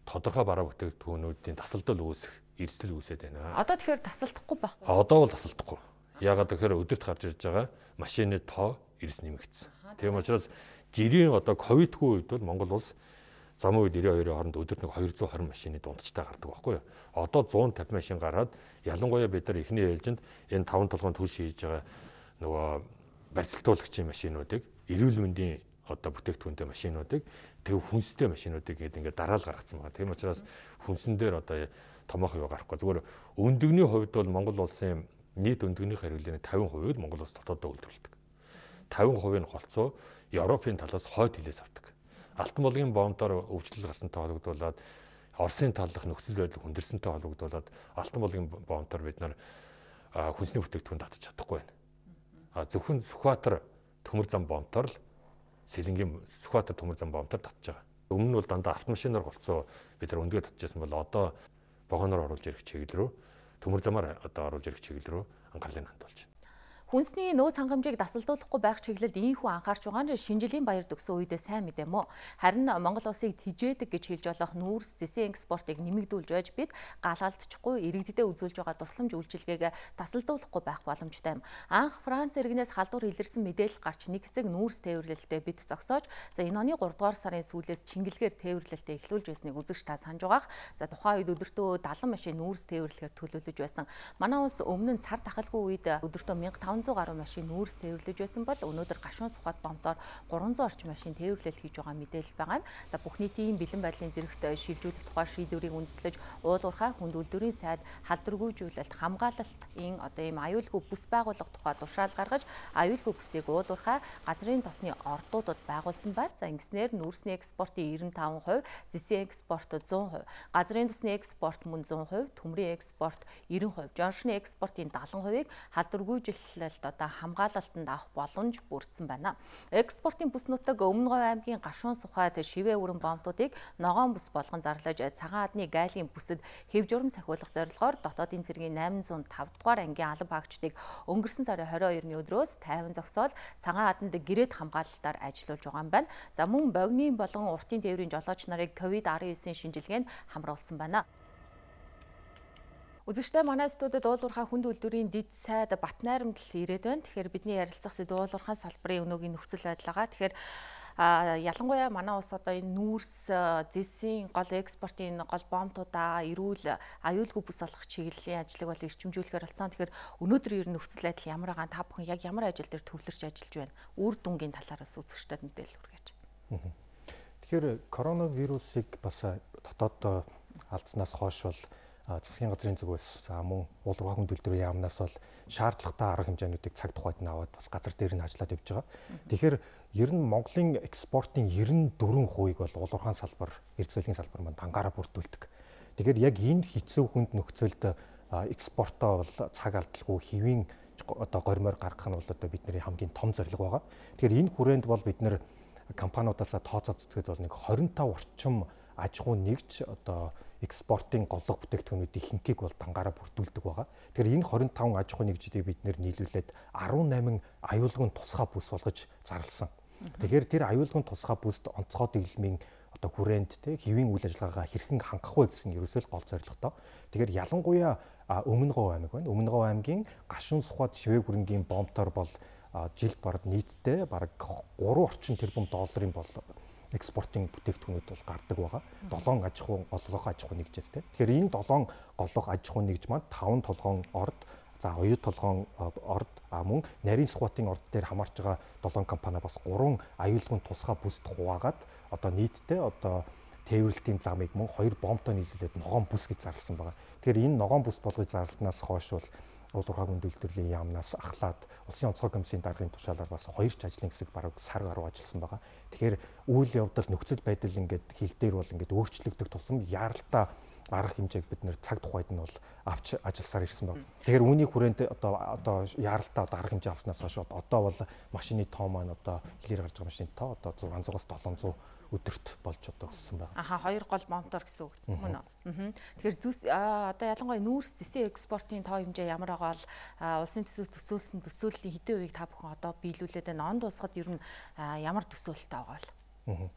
тодорхой бараа бүтээгдэхүүнүүдийн тасалдал үүсэх эрсдэл үүсээд байна. Одоо тэгэхээр тасалдахгүй байхгүй. Одоо бол тасалдахгүй. Яагаад гэхээр өдөрт гарч ирж байгаа машины тоо эрс нэмэгдсэн. Тийм учраас жирийн одоо ковидгүй үед бол Монгол улс замын үед нэрийн хоёрын хооронд өдөрт нэг хоёр зуун хорин машины дундчтай гардаг байхгүй юу? Одоо зуун тавин машин гараад ялангуяа бид нар эхний ээлжинд энэ таван толгойн түлш хийж байгаа нөгөө барьцалтуулагчийн машинуудыг эрүүл мэндийн одоо бүтээгдэхүүнтэй машинуудыг тэг хүнстэй машинуудыг гээд ингээд дараал гаргацсан байгаа. Тийм учраас хүнсэн дээр одоо томоох юу гарахгүй. Зүгээр өндөгний хувьд бол Монгол улсын нийт өндөгний хариуллын тавин хувийг Монгол улс дотоодоо үйлдвэрлэдэг. тавин хувийг нь голцоо Европын талаас хойд хилээс авдаг. Алтан булгийн бомбоор өвчлөл гарсантай холбогдуулаад Оросын талдах нөхцөл байдал хүндэрсэнтэй холбогдуулаад Алтан булгийн бомбоор бид нар хүнсний бүтээгдэхүүн татаж чадахгүй байна. А зөвхөн Сүхбаатар төмөр зам бомбоор л Сэлэнгийн Сүхбаатар төмөр зам бомбоор татж байгаа. Өмнө нь бол дандаа автомашинаар голцоо бид нар өндгөө татчихсан бол одоо вагоноор оруулж ирэх чиглэл рүү төмөр замаар одоо оруулж ирэх чиглэл рүү анхаарлыг хандуулж байна. Хүнсний нөөц хангамжийг дасалдуулахгүй байх чиглэлд ийхүү анхаарч байгаа нь шинжилгээний баяр төгсөн үедээ сайн мэдэм үү. Харин Монгол улсыг тижээдэг гэж хэлж болох нүүрс зэсийн экспортыг нэмэгдүүлж байж бид галгалдчихгүй иргэдэд үзүүлж байгаа тусламж үйлчилгээг дасалдуулахгүй байх боломжтой юм. Анх Франц иргэнээс халдвар илэрсэн мэдээлэл гарч нэг хэсэг нүүрс тээвэрлэлтэд бид зогсоож за энэ оны гуравдугаар сарын сүүлээс чингэлгээр тээвэрлэлтэд эхлүүлж байсныг үзэгч та санаж байгаах. За тухайн үед өдөртөө далан машин нүүрс тээвэрлэхээр төлөвлөж байсан. Манай улс өмнө нь цар тахалгүй үед өдөртөө мянга таван зуун гаруй машин нүүрс тээвэрлэж байсан бол өнөөдөр гашуун Сүхбаат бомбоор гурван зуун орчим машин тээвэрлэл хийж байгаа мэдээлэл байгаа юм. За бүх нийтийн бэлэн байдлын зэрэгт шилжүүлэх тухай шийдвэрийг үндэслэж уулуурхай хүнд үйлдвэрийн сайд халдваргүйжүүлэлт хамгаалалтын одоо ийм аюулгүй бүс байгуулах тухай тушаал гаргаж аюулгүй бүсийг уулуурхай газрын тосны ордуудад байгуулсан байна. За ингэснээр нүүрсний экспортын девяносто пять процент, зэсийн экспорт сто процент, газрын тосны экспорт мөн сто процент, төмрийн экспорт девяносто процент, жоншны экспортын сетenta процент халдваргүйжүүлэлт одоо хамгаалалтанд авах боломж бүрдсэн байна. Экспортын бүс нутаг Өмнө Говь аймгийн гашуун Сүхбаат шивээ өрн бомбуудыг ногоон бүс болгон зарлаж цагаан адны гайлын бүсэд хэв журам сахиулах зорилгоор дотоодын цэргийн восемьсот и пять дугаар ангийн алба хаагчдыг өнгөрсөн сарын двадцать хоёрны өдрөөс тайван зогсоол цагаан аданд гэрээт хамгаалалтаар ажиллуулж байгаа юм байна. За мөн богины болон уртын тээврийн жолооч нарыг ковид десятtoгийн шинжилгээнд хамруулсан байна. Үзэгчтэй манай студид уулуурхай хүнд үйлдвэрийн дэд сайд Батнайрамд ирээд байна. Тэгэхээр бидний ярилцах сэдв уулуурхай салбарын өнөөгийн нөхцөл байдалгаа. Тэгэхээр ялангуяа манай улс одоо энэ нүүрс зэсийн гол экспортын гол бомбуудаа эрүүл аюулгүй бүс олох чиглэлийн ажлыг бол эрчимжүүлэхээр болсон. Тэгэхээр өнөөдөр ер нь нөхцөл байдал ямар байгаа та бүхэн яг ямар ажил дээр төвлөрч ажиллаж байна? Үр дүнгийн талаараас үзэгчдэд мэдээлэл хүргэж. Тэгэхээр коронавирусыг бас дотоод алдснаас хойш бол засгийн газрын зүгээс мөн уулуурхай хүнд үйлдвэрийн яамнаас бол шаардлагатай арга хэмжээнүүдийг цаг тухайд нь аваад бас газар дээр нь ажиллаад явж байгаа. Тэгэхээр ер нь Монголын экспортын девяносто четыре хувийг бол уулуурхай салбар, эрдэс байлгийн салбар маань пангаараа бүрдүүлдэг. Тэгэхээр яг энэ хэцүү хүнд нөхцөлд экспортоо бол цаг алдалгүй хэвийн одоо гормоор гаргах нь бол одоо бидний хамгийн том зорилго байгаа. Тэгэхээр энэ хүрээнд бол бид нэр компаниудаас тооцоо зүтгээд бол нэг двадцать пять орчим аж ахуй нэгж одоо экспортын голлого бүтээгдэхүүнүүдийн ихэнхийг бол пангаараа бүрдүүлдэг байгаа. Тэгэхээр энэ двадцать пять аж ахуй нэгжүүдийг бид нэр нийлүүлээд десятвосемь аюулгын тусгай бүс болгож зарласан. Тэгэхээр тэр аюулгын тусгай бүсд онцгой дэглэмийн одоо хүрээнд те хэвийн үйл ажиллагаагаа хэрхэн хангах вэ гэсэн ерөөсөө л гол зорилготой. Тэгэхээр ялангуяа Өмнө Говь аймаг байна. Өмнө Говь аймгийн гашуун Сүхбаат шивээ хүрэнгийн бомбтоор бол жилд бараг нийтдээ бараг гурван орчим тэрбум долларын бол экспортын бүтээгдэхүүнүүд бол гардаг байгаа. долоон аж ахуй голлого аж ахуй нэгжээс те. Тэгэхээр энэ долоон голлого аж ахуй нэгж маань таван толгоон орд, за оюу толгоон орд, а мөн нарийн Сүхбаатын орд дээр хамаарч байгаа долоон компани бас гурван аюулгын тусгай бүсд хуваагаад одоо нийтдээ одоо тээвэрлэлтийн замыг мөн хоёр бомбтой нийлүүлээд ногоон бүс гэж зарласан байгаа. Тэгэхээр энэ ногоон бүс болгож зарлснаас хойш бол уулуурхай хүнд үйлдвэрлэлийн яамнаас ахлаад улсын онцгой комиссийн даргын тушаалаар бас хоёр ч ажлын хэсэг бараг сар гаруй ажилласан байгаа. Тэгэхээр үйл явдал нөхцөл байдал ингээд хил дээр бол ингээд өөрчлөгдөх тусам яаралтай арга хэмжээг бид нэр цаг тухайд нь бол авч ажилласаар ирсэн байна. Тэгэхээр үүний хүрээнд одоо одоо яаралтай одоо арга хэмжээ авснаас хойш одоо бол машины тоо маань одоо хэлээр гарч байгаа машины тоо одоо зургаан зугаас долоон зуун өдөрт болж одоо өссөн байна. Аха хоёр гол мотор гэсэн үг мөн үү? Тэгэхээр зүс одоо ялангуяа нүүрс зэсийн экспортын тоо хэмжээ ямар байгаа бол улсын төсөв төсөөлсөн төсөөллийн хэдэн үеийг та бүхэн одоо биелүүлээд байна. Он тусахад ер нь ямар төсөөлөлтэй байгаа бол?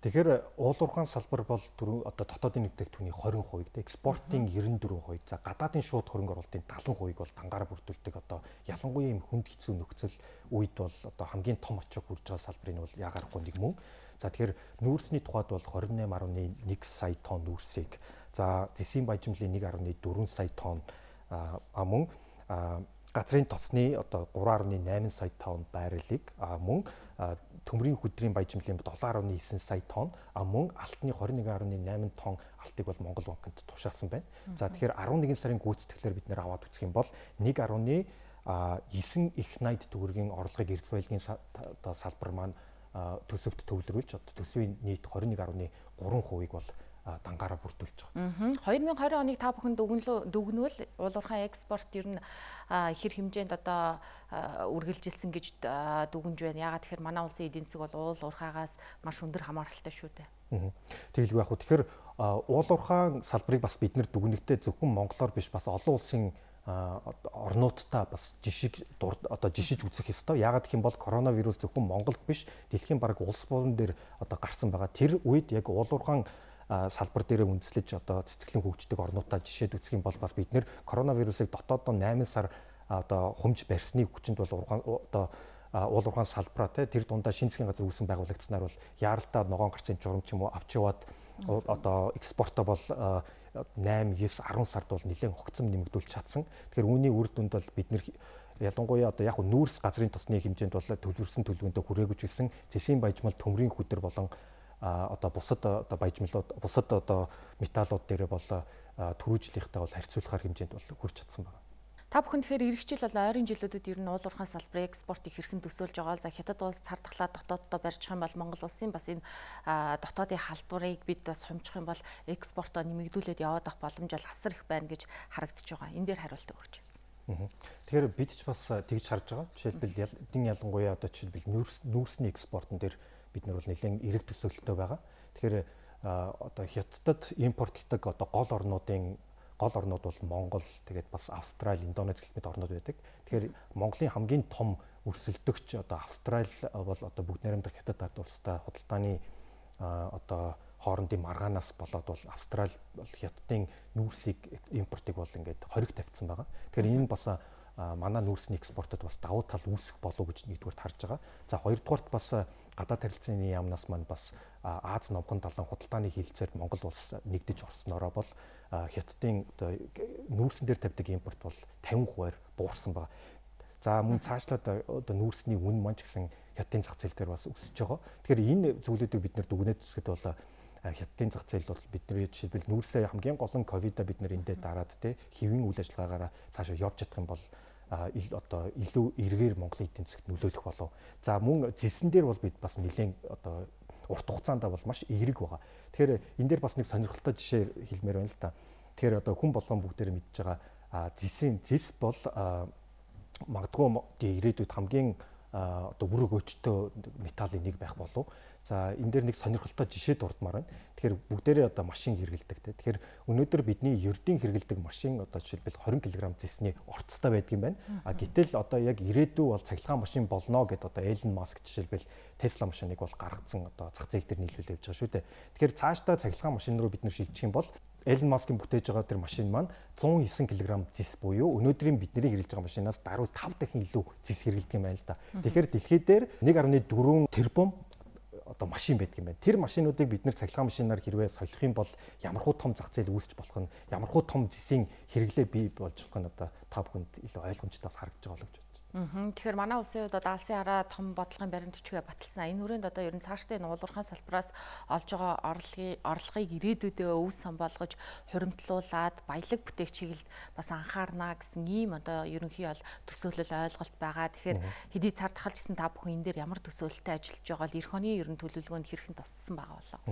Тэгэхээр уулуурхаан салбар бол одоо дотоодын бүтээгдэхүүний хорин хувийг, экспортын нэрэн дөрвөн хувийг, за гадаадын шууд хөрөнгө оруулалтын талан хувийг бол дангаараа бүрдүүлдэг. Одоо ялангуяа юм хүнд хэцүү нөхцөл үед бол одоо хамгийн том очиг хүрж байгаа салбарын бол ягарахгүй нэг мөн. За тэгэхээр нүүрсний тухайд бол двадцать восемь дасмал нэг сая тонн нүүрсийг, за зэсийн баяжмлын one дасмал four сая тонн а мөн газрын тосны одоо three дасмал eight сая тонн байралыг а мөн төмрийн хөдрийн баяжмлын seven дасмал nine сая тонн а мөн алтны twenty-one дасмал eight тонн алтыг бол Монгол банкнд тушаасан байна. За тэгэхээр eleven сарын гүйцэтгэлээр бид нэр аваад үзэх юм бол one дасмал nine их найд төгрөгийн орлогыг эрдэс баялагын одоо салбар маань төсөвт төвлөрүүлж одоо төсвийн нийт twenty-one дасмал three хувийг бол дангаараа бүрдүүлж байгаа. twenty twenty оныг та бүхэн дүгнвэл уулуурхаан экспорт ер нь хэр хэмжээнд одоо үргэлжилсэн гэж дүгнж байна. Ягаад тэгэхээр манай улсын эдийн засаг бол уулуурхаагаас маш өндөр хамааралтай шүү дээ. Тэгэлгүй яг хөө тэгэхээр уулуурхаан салбарыг бас бид нэр дүгнэхдээ зөвхөн Монголоор биш бас олон улсын орнуудтай бас жишг одоо жишиж үзэх ёстой. Ягаад гэх юм бол коронавирус зөвхөн Монголд биш дэлхийн бараг улс орн дээр одоо гарсан байгаа. Тэр үед яг уулуурхаан салбар дээр үндэслэж одоо цэцэглэн хөгждөг орнуудаа жишээд үзэх юм бол бас бид нэр коронавирусыг дотооддоо eight сар одоо хумж барьсны хүчинд бол одоо уулуурхаан салбараа тэр дундаа шинэ засгийн газар үүсэн байгуулагдсанаар бол яаралтай ногоон гарцын журам ч юм уу авч яваад одоо экспортоо бол eight, nine, ten сард бол нэлээд хогцом нэмэгдүүлж чадсан. Тэгэхээр үүний үр дүнд бол бид нэр ялангуяа одоо яг нүүрс газрын тосны хэмжээнд бол төлөвлөсөн төлөвөндөө хүрээгүйч гэсэн зэсийн баяжмал төмрийн хүдэр болон одоо бусад одоо баяжмлууд бусад одоо металлууд дээрээ бол төрүүжлийнхтэй бол харьцуулахаар хэмжээнд бол хүрч чадсан байна. Та бүхэн тэгэхээр эх жил бол ойрын жилүүдэд ер нь уулуурхаан салбарын экспортыг хэрхэн төсөөлж байгаа бол за хятад улс цар тахлаа дотооддоо барьчих юм бол Монгол улсын бас энэ дотоодын халдварыг бид бас хомчих юм бол экспортоо нэмэгдүүлээд яваад авах боломж бол асар их байна гэж харагдаж байгаа. Энэ дээр хариулт өгөөч. Тэгэхээр бид ч бас тэгж харж байгаа. Жишээлбэл эдийн ялангуяа одоо жишээлбэл нүүрс нүүрсний экспортон дээр бид нар бол нэлээд эрэг төсөөлөлттэй байгаа. Тэгэхээр одоо хятадд импортлдог одоо гол орнуудын гол орнууд бол Монгол, тэгээд бас Австрали, Индонез гэх мэт орнууд байдаг. Тэгэхээр Монголын хамгийн том өрсөлдөгч одоо Австрали бол одоо бүгд найрамдах хятад ард улстай худалдааны одоо хоорондын маргаанаас болоод бол Австрали бол хятадын нүүрсийг импортыг бол ингээд хориг тавьсан байгаа. Тэгэхээр энэ бас манай нүүрсний экспортод бас давуу тал үүсэх болов гэж нэгдүгээр харж байгаа. За хоёрдугаарт бас гадаад харилцааны яамнаас маань бас Аз номхон талын худалдааны хилцээр Монгол улс нэгдэж орсноороо бол хятадын одоо нүүрсэн дээр тавьдаг импорт бол fifty percent буурсан байгаа. За мөн цаашлаад одоо нүүрсний үн маань ч гэсэн хятадын зах зээл дээр бас өсөж байгаа. Тэгэхээр энэ зүйлүүдийг бид нэр дүгнэж үзэхэд бол хятадын зах зээл бол бидний жишээлбэл нүүрсээ хамгийн гол нь ковидо бид нэр эндээ дараад те хэвийн үйл ажиллагаагаараа цаашаа явж чадах юм бол одоо илүү эргээр Монголын эдийн засагт нөлөөлөх болов. За мөн зэсэн дээр бол бид бас нэлээд одоо урт хугацаанд бол маш эерэг байгаа. Тэгэхээр энэ дээр бас нэг сонирхолтой жишээ хэлмээр байна л да. Тэгэхээр одоо хүн болгон бүгдээр мэдж байгаа зэсийн зэс бол магадгүй ирээдүйд хамгийн одоо бүрэг өчтөө металлын нэг байх болов. За энэ дээр нэг сонирхолтой жишээ дурдмаар байна. Тэгэхээр бүгдээрээ одоо машин хэрэгэлдэг те. Тэгэхээр өнөөдөр бидний ердийн хэрэгэлдэг машин одоо жишээлбэл twenty килограмм зэсний орцтой байдаг юм байна. А гэтэл одоо яг ирээдүй бол цахилгаан машин болно гэд одоо Elon Musk жишээлбэл Tesla машиныг бол гаргацсан одоо зах зээл дээр нийлүүлж явж байгаа шүү дээ. Тэгэхээр цаашдаа цахилгаан машин руу бид нэр шилжих юм бол Elon Musk-ийн бүтээж байгаа тэр машин маань one oh nine килограмм зэс буюу өнөөдрийн бидний хэрэглэж байгаа машинаас даруй five дахин илүү зэс хэрэглэдэг юм байна л да. Тэгэхээр дэлхий дээр one point four тэрбум одоо машин байдаг юм байна. Тэр машинуудыг бид нэр цахилгаан машинаар хэрвээ солих юм бол ямархуу том зах зээл үүсч болох нь, ямархуу том зэсийн хэрэглээ бий болж болох нь одоо та бүхэнд илүү ойлгомжтой бас харагдаж байгаа л гэж бодож байна. Тэгэхээр манай улсын хувьд одоо алсын хараа том бодлогын баримт бичгээ баталсан. Энэ хүрээнд одоо ер нь цаашдын уулуурхаан салбараас олж байгаа орлогын орлогыг ирээдүйдээ өв сан болгож хуримтлуулад баялаг бүтээх чиглэлд бас анхаарна гэсэн ийм одоо ерөнхий бол төсөөлөл ойлголт байгаа. Тэгэхээр хэдий цар тахалж гисэн та бүхэн энэ дээр ямар төсөөлөлтэй ажиллаж байгаа л эх оны ер нь төлөвлөгөөнд хэрхэн туссан байгаа болоо.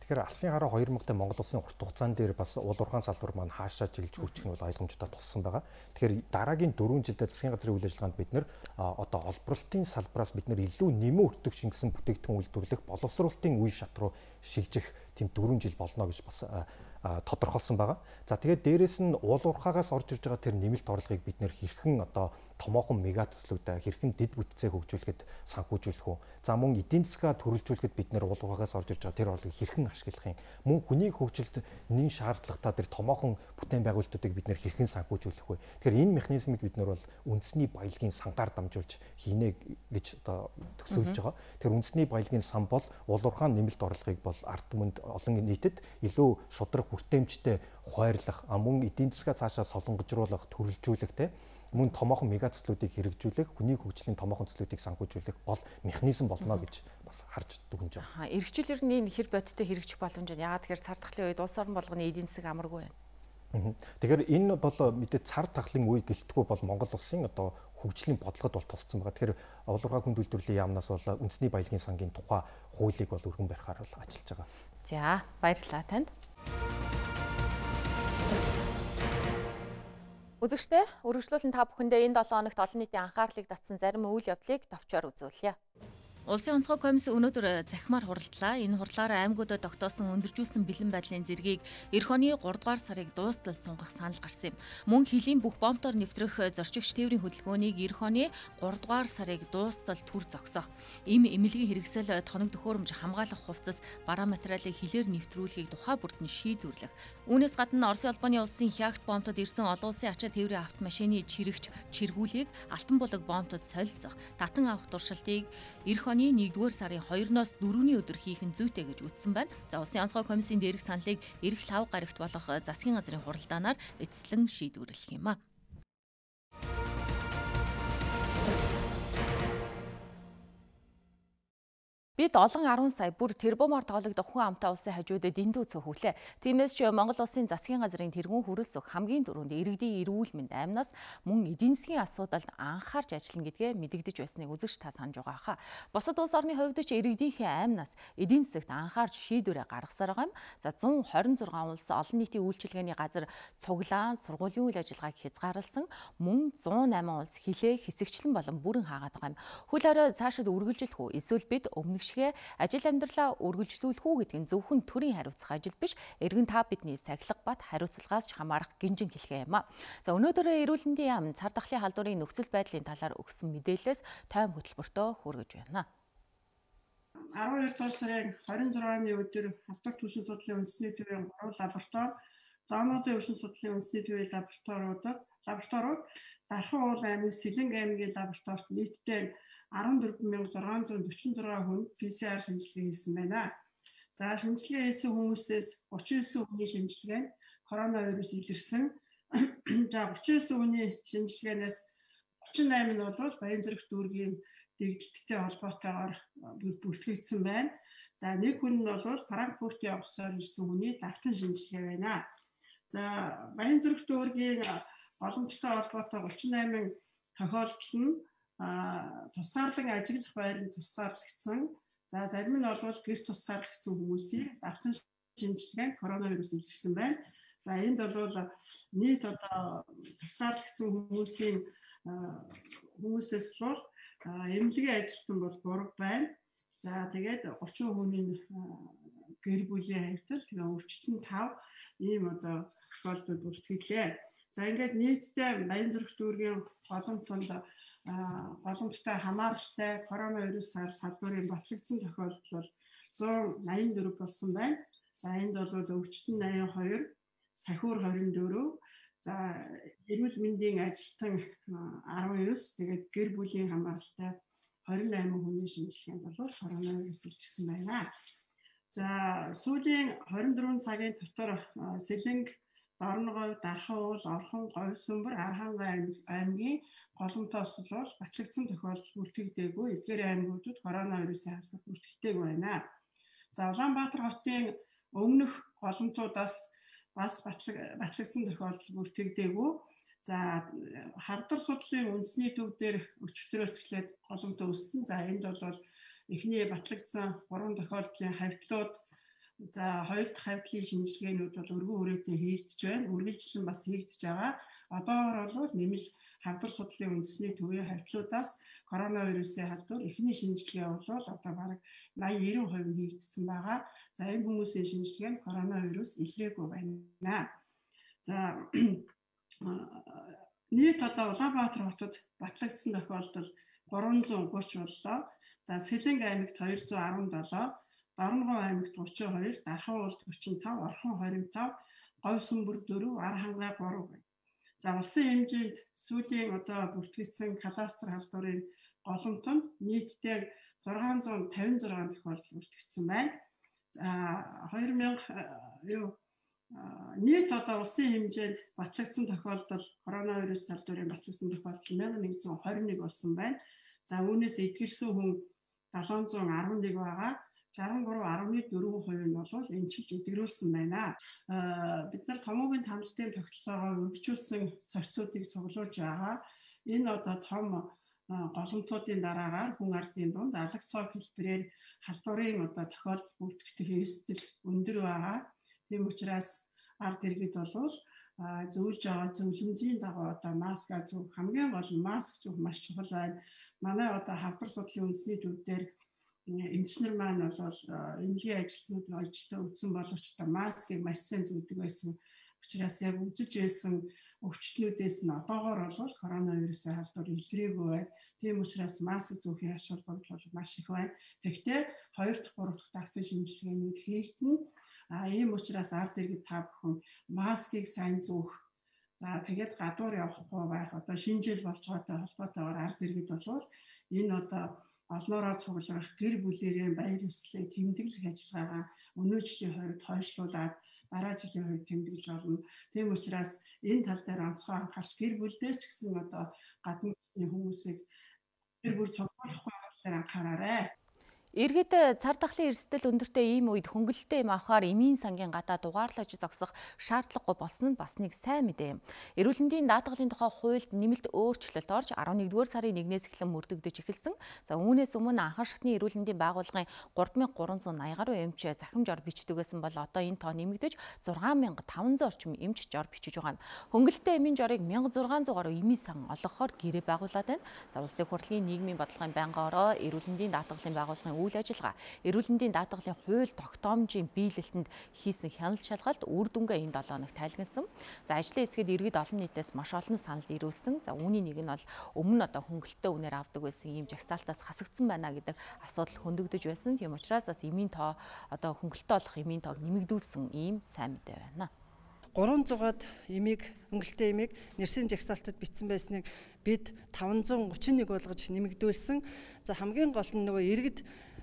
Тэгэхээр алсын хараа хоёр мянгатай Монгол улсын урт хугацаан дээр бас уул уурхайн салбар маань хаашаа чиглэж хөгжих нь бол ойлгомжтой туссан байгаа. Тэгэхээр дараагийн дөрвөн жилдээ засгийн газрын үйл ажиллагаанд бид нэр одоо олборлолтын салбараас бид нэр илүү нэмэн өртөг шингэсэн бүтээгдэхүүн үйлдвэрлэх, боловсруулалтын үе шат руу шилжих тийм дөрвөн жил болно гэж бас тодорхойлсон байгаа. За тэгээд дээрэс нь уул уурхаагаас орж ирж байгаа тэр нэмэлт орлогыг бид нэр хэрхэн одоо томоохон мега төслүүдээ хэрхэн дэд бүтцээ хөгжүүлэхэд санхүүжүүлэх үү. За мөн эдийн засгаа төрөлжүүлэхэд бид нэр уул уурхаагаас орж ирж байгаа тэр орлогыг хэрхэн ашиглах юм. Мөн хүний хөгжилд нэн шаардлагатай тэр томоохон бүтээн байгуулалтуудыг бид нэр хэрхэн санхүүжүүлэх вэ. Тэгэхээр энэ механизмыг бид нэр бол үндэсний баялагын сангаар дамжуулж хийнэ гэж одоо төсөөлж байгаа. Тэгэхээр үндэсний баялагын сан бол уул уурхайн нэмэлт орлогыг бол ард түмэнд олон нийтэд илүү шудраг хүртээмжтэй хуваарлах, мөн эдийн засгаа цаашаа солонгожруулах, төрөлжүүлэх те мөн томоохон мега төслүүдийг хэрэгжүүлэх, хүний хөгжлийн томоохон төслүүдийг санхүүжүүлэх бол механизм болно гэж бас харж дүгнэж байгаа. Аа, эрхчлэлэр нь энэ хэр бодиттой хэрэгжих боломж нь яагаад тэгэхээр цар тахлын үед улс орон болгоны эдийн засаг амаргүй байна. Тэгэхээр энэ бол мэдээ цар тахлын үе гэлтгүй бол Монгол улсын одоо хөгжлийн бодлогод бол тусцсан байгаа. Тэгэхээр уул уурхай хүнд үйлдвэрлэлийн яамнаас бол үндэсний баялагын сангийн тухай хуулийг бол өргөн барихаар бол ажиллаж байгаа. За, баярлалаа танд. Үзэгчдээ үргэлжлүүлэн та бүхэндээ энэ долоо хоногт олон нийтийн анхаарлыг татсан зарим үйл явдлыг товчоор үзүүлье. Улсын онцгой комисс өнөөдөр захимаар хуралдлаа. Энэ хурлаараа аймагуудад тогтоосон өндөржүүлсэн бэлэн байдлын зэргийг эх оны гурав дугаар сарыг дуустал сунгах санал гарсан юм. Мөн хилийн бүх бомбоор нэвтрэх зорчигч тээврийн хөдөлгөөнийг эх оны гурав дугаар сарыг дуустал түр зогсоох. Им эмнэлгийн хэрэгсэл тоног төхөөрөмж хамгаалах хувцас бараа материалыг хилээр нэвтрүүлэхийг тухай бүрд нь шийдвэрлэх. Үүнээс гадна Оросын улбаны улсын Хягт бомбтод ирсэн олон улсын ачаа тээврийн автомашины чирэгч чиргүүлийг алтан булаг бомбтод солилцох, татан авах туршилтыг эх оны нэгдүгээр сарын хоёроноос дөрөвний өдөр хийх нь зүйтэй гэж үздсэн байна. За улсын онцгой комиссийн дээрх саналыг эх лав гарагт болох засгийн газрын хуралдаанаар эцэслэн шийдвэрлэх юм а. Бид олон арван сая бүр тэрбумаар тоологдох хүн амтай улсын хажуудад дэндүү цохиулээ. Тиймээс ч Монгол улсын засгийн газрын тэргүүн хүрэлцэх хамгийн түрүүнд иргэдийн эрүүл мэнд амнаас мөн эдийн засгийн асуудалд анхаарч ажиллана гэдгээ мэдэгдэж байсныг үзэгч та санаж байгаа хаа. Бусад улс орны хувьд ч иргэдийнхээ амнаас эдийн засагт анхаарч шийдвэрээ гаргасаар байгаа юм. За зуун хорин зургаан улс олон нийтийн үйлчилгээний газар цуглаан сургуулийн үйл ажиллагааг хязгаарласан, мөн зуун намын улс хилээ хэсэгчлэн болон бүрэн хаагаад байгаа юм. Хөл хорой цаашид үргэлжлэх үү? Эсвэл бид өмнөх ажил амьдралаа үргэлжлүүлэх үү гэдэг нь зөвхөн төрийн хариуцах ажил биш, эргэн та бидний сахилга бат хариуцлагаас ч хамаарах гинжин хэлхээ юм а. За өнөөдөр эрүүл мэндийн яам цар тахлын халдварын нөхцөл байдлын талаар өгсөн мэдээлэлээс тойм хөтөлбөртөө хүргэж байна. арван хоёр дугаар сарын хорин зургааны өдөр халдвар түвшин судлалын үндэсний төвийн гурван лаборатори, зоонозын өвчин судлалын үндэсний төвийн лабораториудад лабораториуд Дархан уул аймаг, Сэлэнг аймгийн лабораторид нийтдээ арван дөрвөн мянга зургаан зуун дөрвөн зургаан хүн пэ цэ ар шинжилгээ хийсэн байна. За шинжилгээ хийсэн хүмүүсээс гучин девять хүний шинжилгээ нь коронавирус илэрсэн. За гучин девять хүний шинжилгээнээс гучин восемь нь бол Баянзүрх дүүргийн дэгдэлттэй холбоотойгоор бүртгэгдсэн байна. За нэг хүн нь бол Франкфуртын онгоцоор ирсэн хүний давтан шинжилгээ байна. За Баянзүрх дүүргийн боломжтой холбоотой гучин восемь тохиолдол нь тусгаарлан ажиглах байранд тусгаарлагдсан. За зарим нь бол гэр тусгаарлагдсан хүмүүсийн давтан шинжилгээнд коронавирус илэрсэн байна. За энд бол нийт одоо тусгаарлагдсан хүмүүсийн хүмүүсээс бол эмнэлгийн ажилтан бол гурав байна. За тэгээд гучин хүний гэр бүлийн хаягдал тэгээ өвчтөн тав ийм одоо тохиолдол бүртгэлээ. За ингээд нийтдээ Баянзүрх дүүргийн голомтонд боломжтой хамааралтай коронавирусаар халдварын батлагдсан тохиолдол бол зуун найман дөрөв болсон байна. За энд бол өвчтөн найман хоёр, сахиур хорин дөрөв, за эрүүл мэндийн ажилтан арван девять, тэгээд гэр бүлийн хамааралтай двадцать восемь хүний шинжилгээнд бол коронавирус илэрсэн байна. За сүүлийн двадцать четыре цагийн дотор Сэлэнг, Дорноговь, Дархан уул, Орхон, Говь Сүмбэр, Архангай аймгийн голомтоос бол батлагдсан тохиолдол бүртгэгдээгүй. Эдгээр аймагуудад коронавирусын халдвар бүртгэгдээгүй байна. За Улаанбаатар хотын өмнөх голомтуудаас бас батлагдсан тохиолдол бүртгэгдээгүй. За хавдар судлалын үндэсний төв дээр өчигдрөөс эхлээд голомт үүссэн. За энд бол эхний батлагдсан гурван тохиолдлын хавьтлууд За хоёр дахь хайртлын шинжилгээнүүд бол өргөн үрээтэй хийгдэж байна. Үргэлжлэн бас хийгдэж байгаа. Одоогор бол нэмж халдвар судлалын үндэсний төвийн хайртлуудаас коронавирусын халдвар эхний шинжилгээ бол одоо бараг eighty ninety percent хийгдсэн байгаа. За энэ хүмүүсийн шинжилгээнд коронавирус илрээгүй байна. За нийт одоо Улаанбаатар хотод батлагдсан тохиолдол three hundred thirty боллоо. За Сэлэнг аймагт two hundred seventeen, Дорногов аймагт thirty-two, Дархан улд forty-five, Орхон twenty-five, Говь Сүмбэр four, Ар хангаа three байна. За улсын хэмжээнд сүүлийн одоо бүртгэгдсэн кластер халдварын голомтонд нийтдээ six hundred fifty-six тохиолдол бүртгэгдсэн байна. За two thousand юу нийт одоо улсын хэмжээнд батлагдсан тохиолдол коронавирус халдварын батлагдсан тохиолдол one thousand one hundred twenty-one болсон байна. За үүнээс эдгэрсэн хүн seven hundred eleven байгаа. sixty-three point four percent нь бол эмчилж эдгэрүүлсэн байна. Бид нар томоогийн тамлтын тогтолцоогоо өргөжүүлсэн сорьцуудыг цуглуулж байгаа. Энэ одоо том голомтуудын дараагаар хүн ардын дунд алга цог хэлбэрээр халдварын одоо тохиолдол бүртгэх эрсдэл өндөр байгаа. Тийм учраас ард иргэд бол зөвлөж байгаа зөвлөмжийн дагуу одоо маск зүүх хамгийн гол нь маск зүүх маш чухал байна. Манай одоо халдвар судлалын үндэсний төв дээр эмчнэр маань бол эмнэлгийн ажилтнууд ажилдаа үзсэн боловч одоо маскыг маш сайн зүүдэг байсан. Учраас яг үзэж байсан өвчтнүүдээс нь одоогоор бол коронавирусын халдвар илрээгүй байна. Тийм учраас маск зүүхийн ач холбогдол бол маш их байна. Тэгэхдээ хоёр дахь гурав дахь давтын шинжилгээнүүд хийгдэнэ. А ийм учраас ард иргэд та бүхэн маскыг сайн зүүх. За тэгээд гадуур явахгүй байх одоо шинэ жил болж байгаатай холбоотойгоор ард иргэд бол энэ одоо олноороо цуглах гэр бүлэрээ баяр ёслолыг тэмдэглэх ажиллагаагаа өнөө жилийн хувьд хойшлуулад дараа жилийн хувьд тэмдэглэж болно. Тийм учраас энэ тал дээр онцгой анхаарч гэр бүлдээ ч гэсэн одоо гадны хүмүүсийг гэр бүл цуглуулахгүй талаар анхаараарай. Иргэд цар тахлын эрсдэл өндөртэй ийм үед хөнгөлөлтөө юм авахаар эмийн сангийн гадаа дугаарлаж зогсох шаардлагагүй болсон нь бас нэг сайн мэдээ юм. Эрүүл мэндийн даатгалын тухай хуульд нэмэлт өөрчлөлт орж eleventh сарын нэгнээс эхлэн мөрдөгдөж эхэлсэн. За үүнээс өмнө анхан шатны эрүүл мэндийн байгууллагын three thousand three hundred eighty гаруй эмч захим жор бичдэг байсан бол одоо энэ тоо нэмэгдэж six thousand five hundred орчим эмч жор бичиж байгаа юм. Хөнгөлөлтөө эмийн жорыг six thousand six hundred гаруй эмийн сан олгохоор гэрээ байгуулад байна. За улсын хурлын нийгмийн бодлогын байнгын ороо эрүүл мэндийн даатгалын байгууллагын үйл ажиллагаа эрүүл мэндийн даатгалын хууль тогтоомжийн биелэлтэнд хийсэн хяналт шалгалт үр дүнгээ энэ seven хоногт тайлгнасан. За ажлын хэсгэд иргэд олон нийтээс маш олон санал ирүүлсэн. За үүний нэг нь бол өмнө одоо хөнгөлөлтөө үнээр авдаг байсан ийм жагсаалтаас хасагдсан байна гэдэг асуудал хөндөгдөж байсан. Тийм учраас бас эмийн тоо одоо хөнгөлөлтөө олох эмийн тоог нэмэгдүүлсэн ийм сайн мэдээ байна. three hundred эмийг хөнгөлөлтөө эмийг нэрсийн жагсаалтад бичсэн байсныг бид five hundred thirty-one болгож нэмэгдүүлсэн. За хамгийн гол нь нөгөө иргэд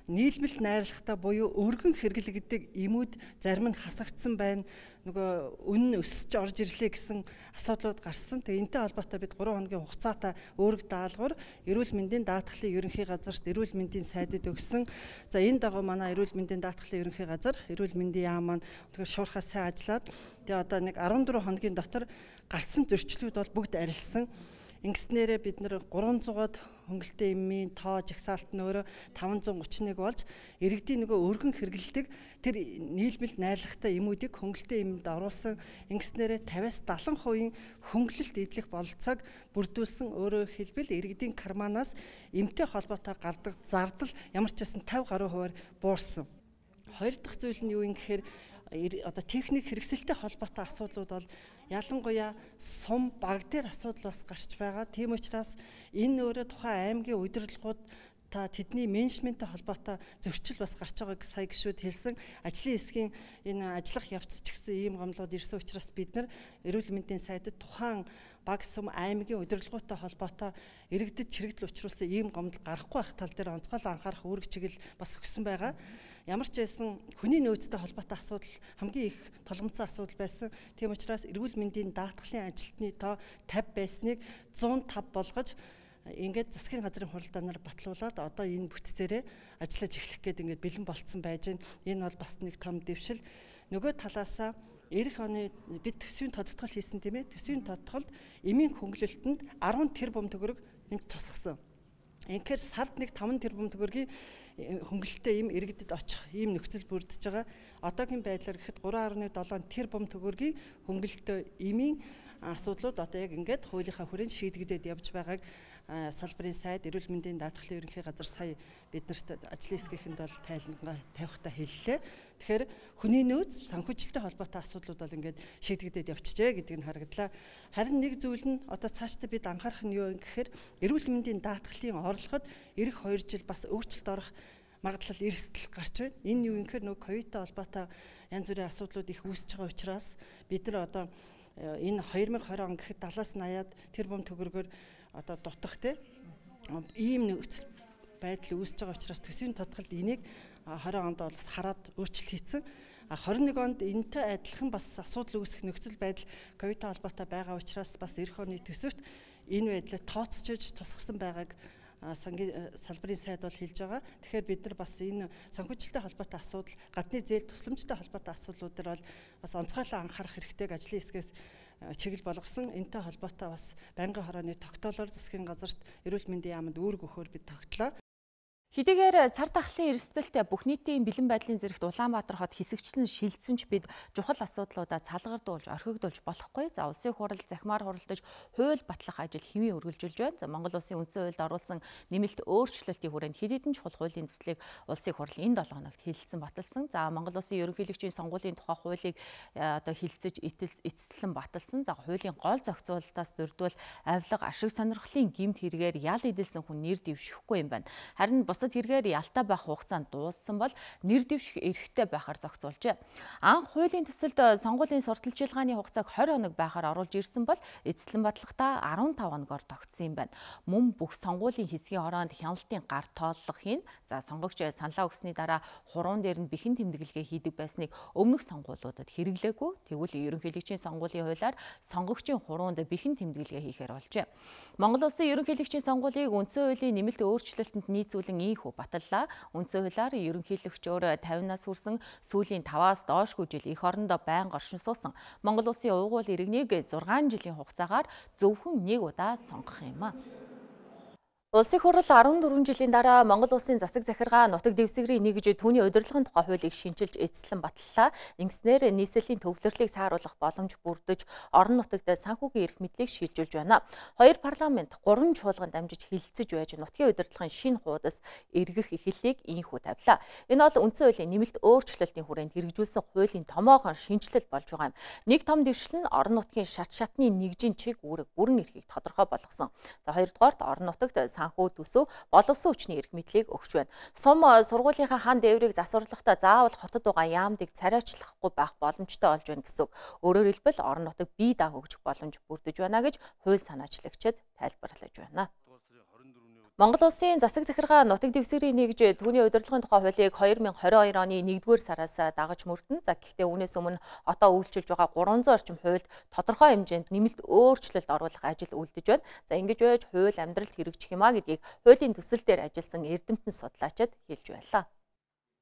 нийлмэлт найрлагатай буюу өргөн хэрэглэгддэг эмүүд зарим нь хасагдсан байна. Нөгөө үнэн өсөж орж ирлээ гэсэн асуудлууд гарсан. Тэгээ энэтэй холбоотой бид three хоногийн хугацаатай өөрөг даалгавар эрүүл мэндийн даатгалын ерөнхий газарт эрүүл мэндийн сайдад өгсөн. За энэ дагуу манай эрүүл мэндийн даатгалын ерөнхий газар эрүүл мэндийн яам маань тэгэхээр шуурхаа сайн ажиллаад тэгээ одоо нэг fourteen хоногийн дотор гарсан зөрчлүүд бол бүгд арилсан. Ингэснээрээ бид нэр three hundred хөнгөлөлтөө эмийн тоо жагсаалт нь өөрөө five hundred thirty-one болж иргэдийн нөгөө өргөн хэрэглэдэг тэр нийлмэлт найрлагатай эмүүдийг хөнгөлөлтөө эмд оруулсан. Ингэснээрээ fifty-аас seventy percent хөнгөлөлт эдлэх бололцоог бүрдүүлсэн. Өөрөөр хэлбэл иргэдийн карманаас эмтэй холбоотой гардаг зардал ямар ч байсан fifty гаруй хувиар буурсан. Хоёр дахь зүйл нь юу юм гэхээр одоо техник хэрэгсэлтэй холбоотой асуудлууд бол ялангуяа сум баг дээр асуудал бас гарч байгаа. Тийм учраас энэ өөрөө тухайн аймгийн удирдлагууд та тэдний менежменттэй холбоотой зөрчил бас гарч байгааг сая гişүүд хэлсэн. Ажлын хэсгийн энэ ажиллах явц ч гэсэн ийм гомдлууд ирсэн учраас бид нар эрүүл мэндийн сайдад тухайн баг сум аймгийн удирдлагуудтай холбоотой иргэдэд чирэгдэл учруулсан ийм гомдол гарахгүй байх тал дээр онцгой анхаарах үүрэг чиглэл бас өгсөн байгаа. Ямар ч байсан хүний нөөцтэй холбоотой асуудал хамгийн их толгомцсон асуудал байсан. Тийм учраас эрүүл мэндийн даатгалын ажилтны тоо fifty байсныг one oh five болгож ингээд засгийн газрын хуралдаанаар батлуулаад одоо энэ бүтцээрээ ажиллаж эхлэх гээд ингээд бэлэн болцсон байж байна. Энэ бол бас нэг том дэвшил. Нөгөө талаасаа эх оны бид төсвийн тодтгол хийсэн тийм ээ. Төсвийн тодтголд эмийн хөнгөлөлтөнд ten тэрбум төгрөг нэмж тусгасан. Инхээр сард нэг five тэрбум төгрөгийн хөнгөлөлтөө им иргэдэд очих ийм нөхцөл бүрдэж байгаа. одоогийн байдлаар гэхэд three point seven тэрбум төгрөгийн хөнгөлөлтөө эмийн асуудлууд одоо яг ингээд хуулийнхаа хүрээнд шийдэгдээд явж байгааг салбарын сайд эрүүл мэндийн даатгалын ерөнхий газар сая биднэрт ажлын хэсгийнхэнд бол тайлбар тавихтаа хэллээ. Тэгэхээр хүний нөөц санхүүжилттэй холбоотой асуудлууд бол ингээд шийдэгдээд явчихжээ гэдэг нь харагдлаа. Харин нэг зүйл нь одоо цаашдаа бид анхаарах нь юу вэ гэхээр эрүүл мэндийн даатгалын орлогод эх хоёр жил бас өөрчлөлт орох магадлал эрсдэл гарч байна. Энэ юу гэхээр нөгөө ковидтой холбоотой янз бүрийн асуудлууд их үүсэж байгаа учраас бид нар одоо энэ two thousand twenty он гэхэд seventy-аас eighty тэрбум төгрөгөөр одоо дутах те ийм нөхцөл байдал үүсэж байгаа учраас төсвийн тодголд энийг twenty онд бол хараад өөрчлөлт хийсэн. twenty-one онд энэтэй адилхан бас асуудал үүсэх нөхцөл байдал ковидтой холбоотой байгаа учраас бас эх оны төсөвт энэ байдлаа тооцоож тусгасан байгааг сангийн салбарын сайд бол хэлж байгаа. Тэгэхээр бид нар бас энэ санхүүжилттэй холбоотой асуудал, гадны зээл тусламжтай холбоотой асуудлуудаар бол бас онцгойлон анхаарах хэрэгтэй ажлын хэсгээс чиглэл болгосон. Энэтэй холбоотой бас байнгын хорооны тогтоолоор засгийн газарт эрүүл мэндийн яамд үүрэг өгөхөөр бид тогтлоо. Хэдийгээр цар тахлын эрсдэлтэй бүх нийтийн бэлэн байдлын зэрэгт Улаанбаатар хот хэсэгчлэн шилжсэн ч бид чухал асуудлуудаа цалгардуулж, орхигдуулж болохгүй. За улсын хурал захимаар хуралдаж хууль батлах ажил хэвийн үргэлжилж байна. За Монгол улсын үндсэн хуульд оруулсан нэмэлт өөрчлөлтийн хүрээнд хэд хэдэн чухал хуулийн төслийг улсын хурал энэ долоо хоногт хэлэлцэн баталсан. За Монгол улсын ерөнхийлөгчийн сонгуулийн тухай хуулийг одоо хэлэлцэж эцэслэн баталсан. За хуулийн гол зохицуулалтаас дөрвдөл авилга, ашиг сонирхлын гэмт хэрэгээр ял эдэлсэн хүн нэр дэвшихгүй юм байна. Харин бусад хэрэгээр ялтай байх хугацаанд дууссан бол нэр дэвших эрхтэй байхаар зохицуулжээ. Анх хуулийн төсөлд сонгуулийн сурталчилгааны хугацааг twenty хоног байхаар оруулж ирсэн бол эцэслэн батлахдаа fifteen хоногоор тогтсон юм байна. Мөн бүх сонгуулийн хэсгийн хороонд хяналтын гар тооллого хийн. За сонгогч саналаа өгсөний дараа хуруун дээр нь бэхэн тэмдэглэгээ хийдэг байсныг өмнөх сонгуулиудад хэрэглээгүй. Тэгвэл ерөнхийлөгчийн сонгуулийн хуулиар сонгогчийн хуруунд бэхэн тэмдэглэгээ хийхээр болжээ. Монгол улсын ерөнхийлөгчийн сонгуулийг үндсэн хуулийн нэмэлт өөрчлөлтөнд нийцүүлэн ийхүү баталлаа. Үндсэн хуулиар ерөнхийлөгчөөр fifty-наас хүрсэн сүүлийн five-аас доошгүй жил эх орондоо байнга оршин суусан Монгол улсын угуул иргэнийг six жилийн хугацаагаар зөвхөн нэг удаа сонгох юм а. Улсын хурал fourteen жилийн дараа Монгол улсын засаг захиргаа нутаг дэвсгэрийн нэгж түүний удирдлагын тухай хуулийг шинжилж эцэслэн баталлаа. Ингэснээр нийслэлийн төвлөрлийг сааруулах боломж бүрдэж орон нутагт санхүүгийн эрх мэдлийг шилжүүлж байна. Хоёр парламент гурван чуулганд дамжиж хэлэлцэж байж нутгийн удирдлагын шинэ хуудас эргэх эхлэлийг ийхүү тавилаа. Энэ бол үндсэн хуулийн нэмэлт өөрчлөлтийн хүрээнд хэрэгжүүлсэн хуулийн томоохон шинжилэл болж байгаа юм. Нэг том дэвшил нь орон нутгийн шат шатны нэгжийн чиг үүрэг бүрэн эрхийг тодорхой болгосон. За хоёрдугаарт орон нутагт санхүү төсөв боловсон хүчний эрх мэдлийг өгч байна. Сум сургуулийнхаа хан дээврийг засварлахдаа заавал хотод байгаа яамдыг царайчлахгүй байх боломжтой болж байна гэсэн үг. Өөрөөр хэлбэл орон нутаг бие даах өгөх боломж бүрдэж байна гэж хууль санаачлагчид тайлбарлаж байна. Монгол улсын засаг захиргаа нутаг дэвсгэрийн нэгж түүний удирдлагын тухай хуулийг twenty twenty-two оны нэгдүгээр сараас дагаж мөрдөн. За гэхдээ үүнээс өмнө одоо үйлчилж байгаа three hundred орчим хуульд тодорхой хэмжээнд нэмэлт өөрчлөлт оруулах ажил үлдэж байна. За ингэж байж хууль амьдралд хэрэгжих юмаа гэдгийг хуулийн төсөл дээр ажилласан эрдэмтэн судлаачид хэлж байлаа.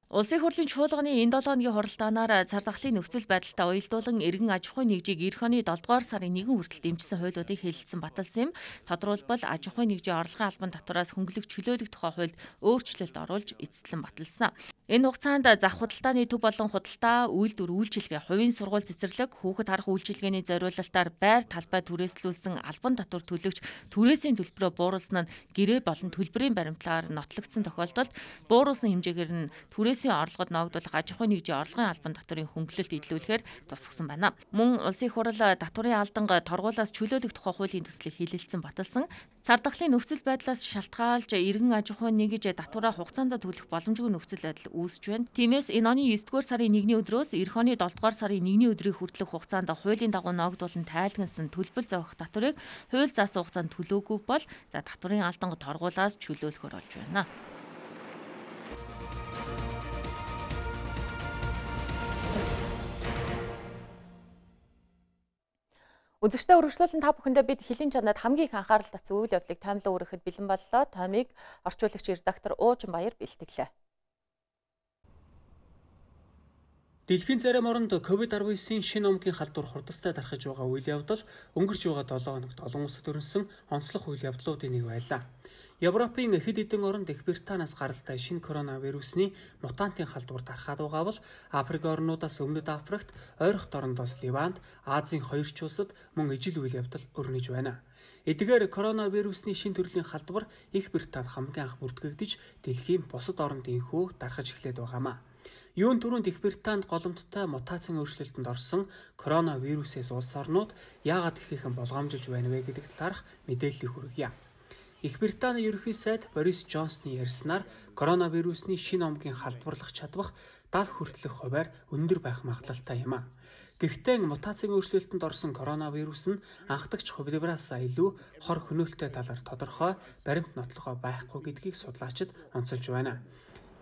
Улсын хурлын чуулганы энэ seven хоногийн хуралдаанаар цар тахлын нөхцөл байдалтай уялдуулан эргэн аж ахуйн нэгжийг эх оны seven дугаар сарын first хүртэл дэмжсэн хуулиудыг хэлэлцэн баталсан юм. Тодорхойлбол аж ахуйн нэгжийн орлогын албан татвараас хөнгөлөх чөлөөлөх тухай хуульд өөрчлөлт оруулж эцэслэн баталсан. Энэ хугацаанд зах худалдааны төв болон худалдаа, үйлдвэр үйлчилгээ, хувийн сургууль цэцэрлэг, хүүхэд харах үйлчилгээний зориулалтаар байр талбай түрээслүүлсэн албан татвар төлөгч түрээсийн төлбөрөө бууруулсан нь гэрээ болон төлбөрийн баримтлаар нотлогдсон тохиолдолд бууруулсан хэмжээгээр нь түрээсийн орлогод ногдуулах аж ахуйн нэгжийн орлогын албан татварын хөнгөлөлт илрүүлэхээр тусгасан байна. Мөн улсын хурал татварын алданг торгуулаас чөлөөлөх тухай хуулийн төслийг хэлэлцэн баталсан. Цар тахлын нөхцөл байдлаас шалтгаалж эргэн аж ахуйн нэгж татвараа хугацаанд төлөх боломжгүй нөхцөл байдал үүсэж байна. Тиймээс энэ оны nine дугаар сарын first өдрөөс эх оны seven дугаар сарын first өдрийн хүртэлх хугацаанд хуулийн дагуу ногдуулан тайлгнасан төлбөл зохих татварыг хууль заасан хугацаанд төлөөгүй бол за татварын алданг торгуулаас чөлөөлөхөр болж байна. Үзэгчдээ өргөжлүүлэн та бүхэндээ бид хэлийн чанад хамгийн их анхаарал татсан үйл явдлыг таймлан өргөхөд бэлэн боллоо. Таймыг орчуулагч редактор Уучин Баяр бэлтгэлээ. Дэлхийн зарим оронд ковид десятдесятын шинэ омгийн халдвар хурдастай дарахж байгаа үйл явдал өнгөрч байгаа долоо хоногт олон улсад өрнөсөн онцлог үйл явдлуудын нэг байлаа. Европын хэд хэдэн оронд Их Британаас гаралтай шинэ коронавирусны мутантын халдвар дарахад байгаа бол Африк орнуудаас Өмнөд Африкт, ойрох дорндоос Ливанд, Азийн хоёр ч улсад мөн ижил үйл явдал өрнөж байна. Эдгээр коронавирусны шинэ төрлийн халдвар Их Британд хамгийн анх бүртгэгдэж дэлхийн бусад оронд инхүү дарахж эхлээд байгаамаа. Юун түрүүнд Их Британд голомттой мутацийн өөрчлөлтөнд орсон коронавирусээс улс орнууд яагаад ихээхэн болгоомжилж байна вэ гэдэг талаарх мэдээллийг хүргье. Их Британий ерөнхий сайд Борис Джонсны ярьснаар коронавирусны шинэ омгийн халдварлах чадвах даал хүртэлх хувиар өндөр байх магадлалтай юм а. Гэхдээ мутацийн өөрчлөлтөнд орсон коронавирус нь анхдагч хувилбараас илүү хор хөнөөлтөй талаар тодорхой баримт нотлохоо байхгүй гэдгийг судлаачид онцолж байна.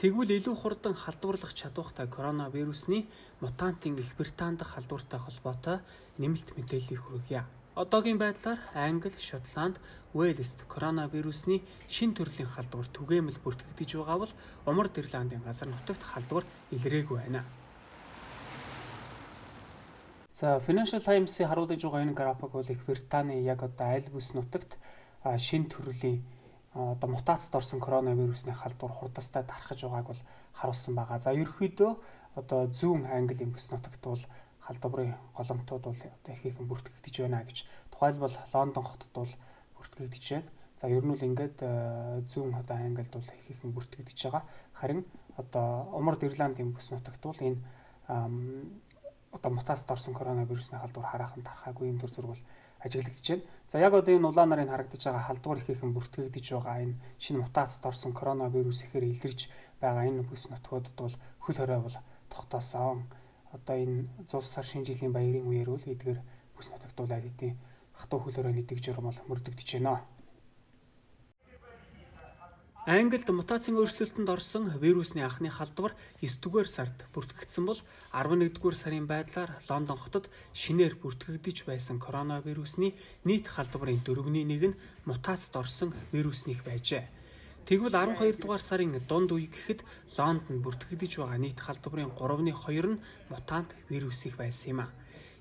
Тэгвэл илүү хурдан халдварлах чадвартай коронавирусны мутантын Их Британд халдвартай холбоотой нэмэлт мэдээллийг хүргье. Одоогийн байдлаар Англи, Шотланд, Уэльст коронавирусны шинэ төрлийн халдвар түгээмэл бүртгэгдэж байгаа бол Умард Ирландын газар нутагт халдвар илрээгүй байна. За Financial Times-ийн харуулж байгаа энэ график бол Их Британий яг одоо аль бүс нутагт шинэ төрлийн одоо мутацид орсон коронавирусны халдвар хурдастай дарахж байгааг бол харуулсан байгаа. За ерөнхийдөө одоо зүүн Англи бүс нутагт бол халдварын голомтууд бол одоо ихээхэн бүртгэгдэж байна гэж. Тухайлбал Лондон хотод бол бүртгэгдэж байна. За ер нь бол ингээд зүүн одоо Англид бол ихээхэн бүртгэгдэж байгаа. Харин одоо Умард Ирландын бүс нутагт бол энэ одоо мутацид орсон коронавирусны халдвар хараахан тархаагүй юм төр зүрх бол ажиглагдаж байна. За яг одоо энэ улаан нарын харагдаж байгаа халдвар ихээхэн бүртгэгдэж байгаа энэ шинэ мутацид орсон коронавирус ихээр илэрж байгаа энэ бүс нутгуудад бол хөл хорой бол тогтоосон. Одоо энэ зуус сар шинэ жилийн баярын үеэр бол эдгээр бүс нутагт бол аль хэдийн хатуу хөл хоройны дэг журам бол мөрдөгдөж байна. Англид мутацийн өөрчлөлтөнд орсон вирусны анхны халдвар девятдүгээр сард бүртгэгдсэн бол арван нэгдүгээр сарын байдлаар Лондон хотод шинээр бүртгэгдэж байсан коронавирусны нийт халдварын дөрөвний нэг нь мутацид орсон вирусных байжээ. Тэгвэл арван хоёр дугаар сарын дунд үе гэхэд Лондонд бүртгэгдэж байгаа нийт халдварын гуравны хоёр нь мутант вирусных байсан юм а.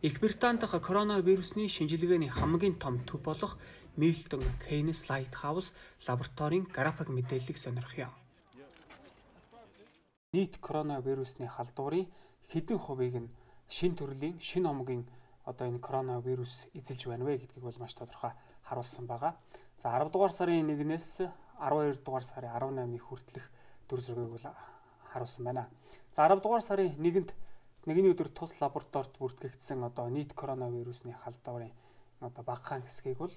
Их Британд дахь коронавирусны шинжилгээний хамгийн том төв болох Milton Keynes Lighthouse лабораторийн график мэдээллийг сонирхъя. Нийт коронавирусны халдварын хэдэн хувийг нь шинэ төрлийн шинэ омгийн одоо энэ коронавирус эзэлж байна вэ гэдгийг бол маш тодорхой харуулсан байгаа. За арав дугаар сарын нэгнээс арван хоёр дугаар сарын арван наймныг хүртэлх дүр зургийг бол харуулсан байна. За арав дугаар сарын нэгэнд нэгний өдөр тус лабораторид бүртгэгдсэн одоо нийт коронавирусны халдварын одоо багахан хэсгийг бол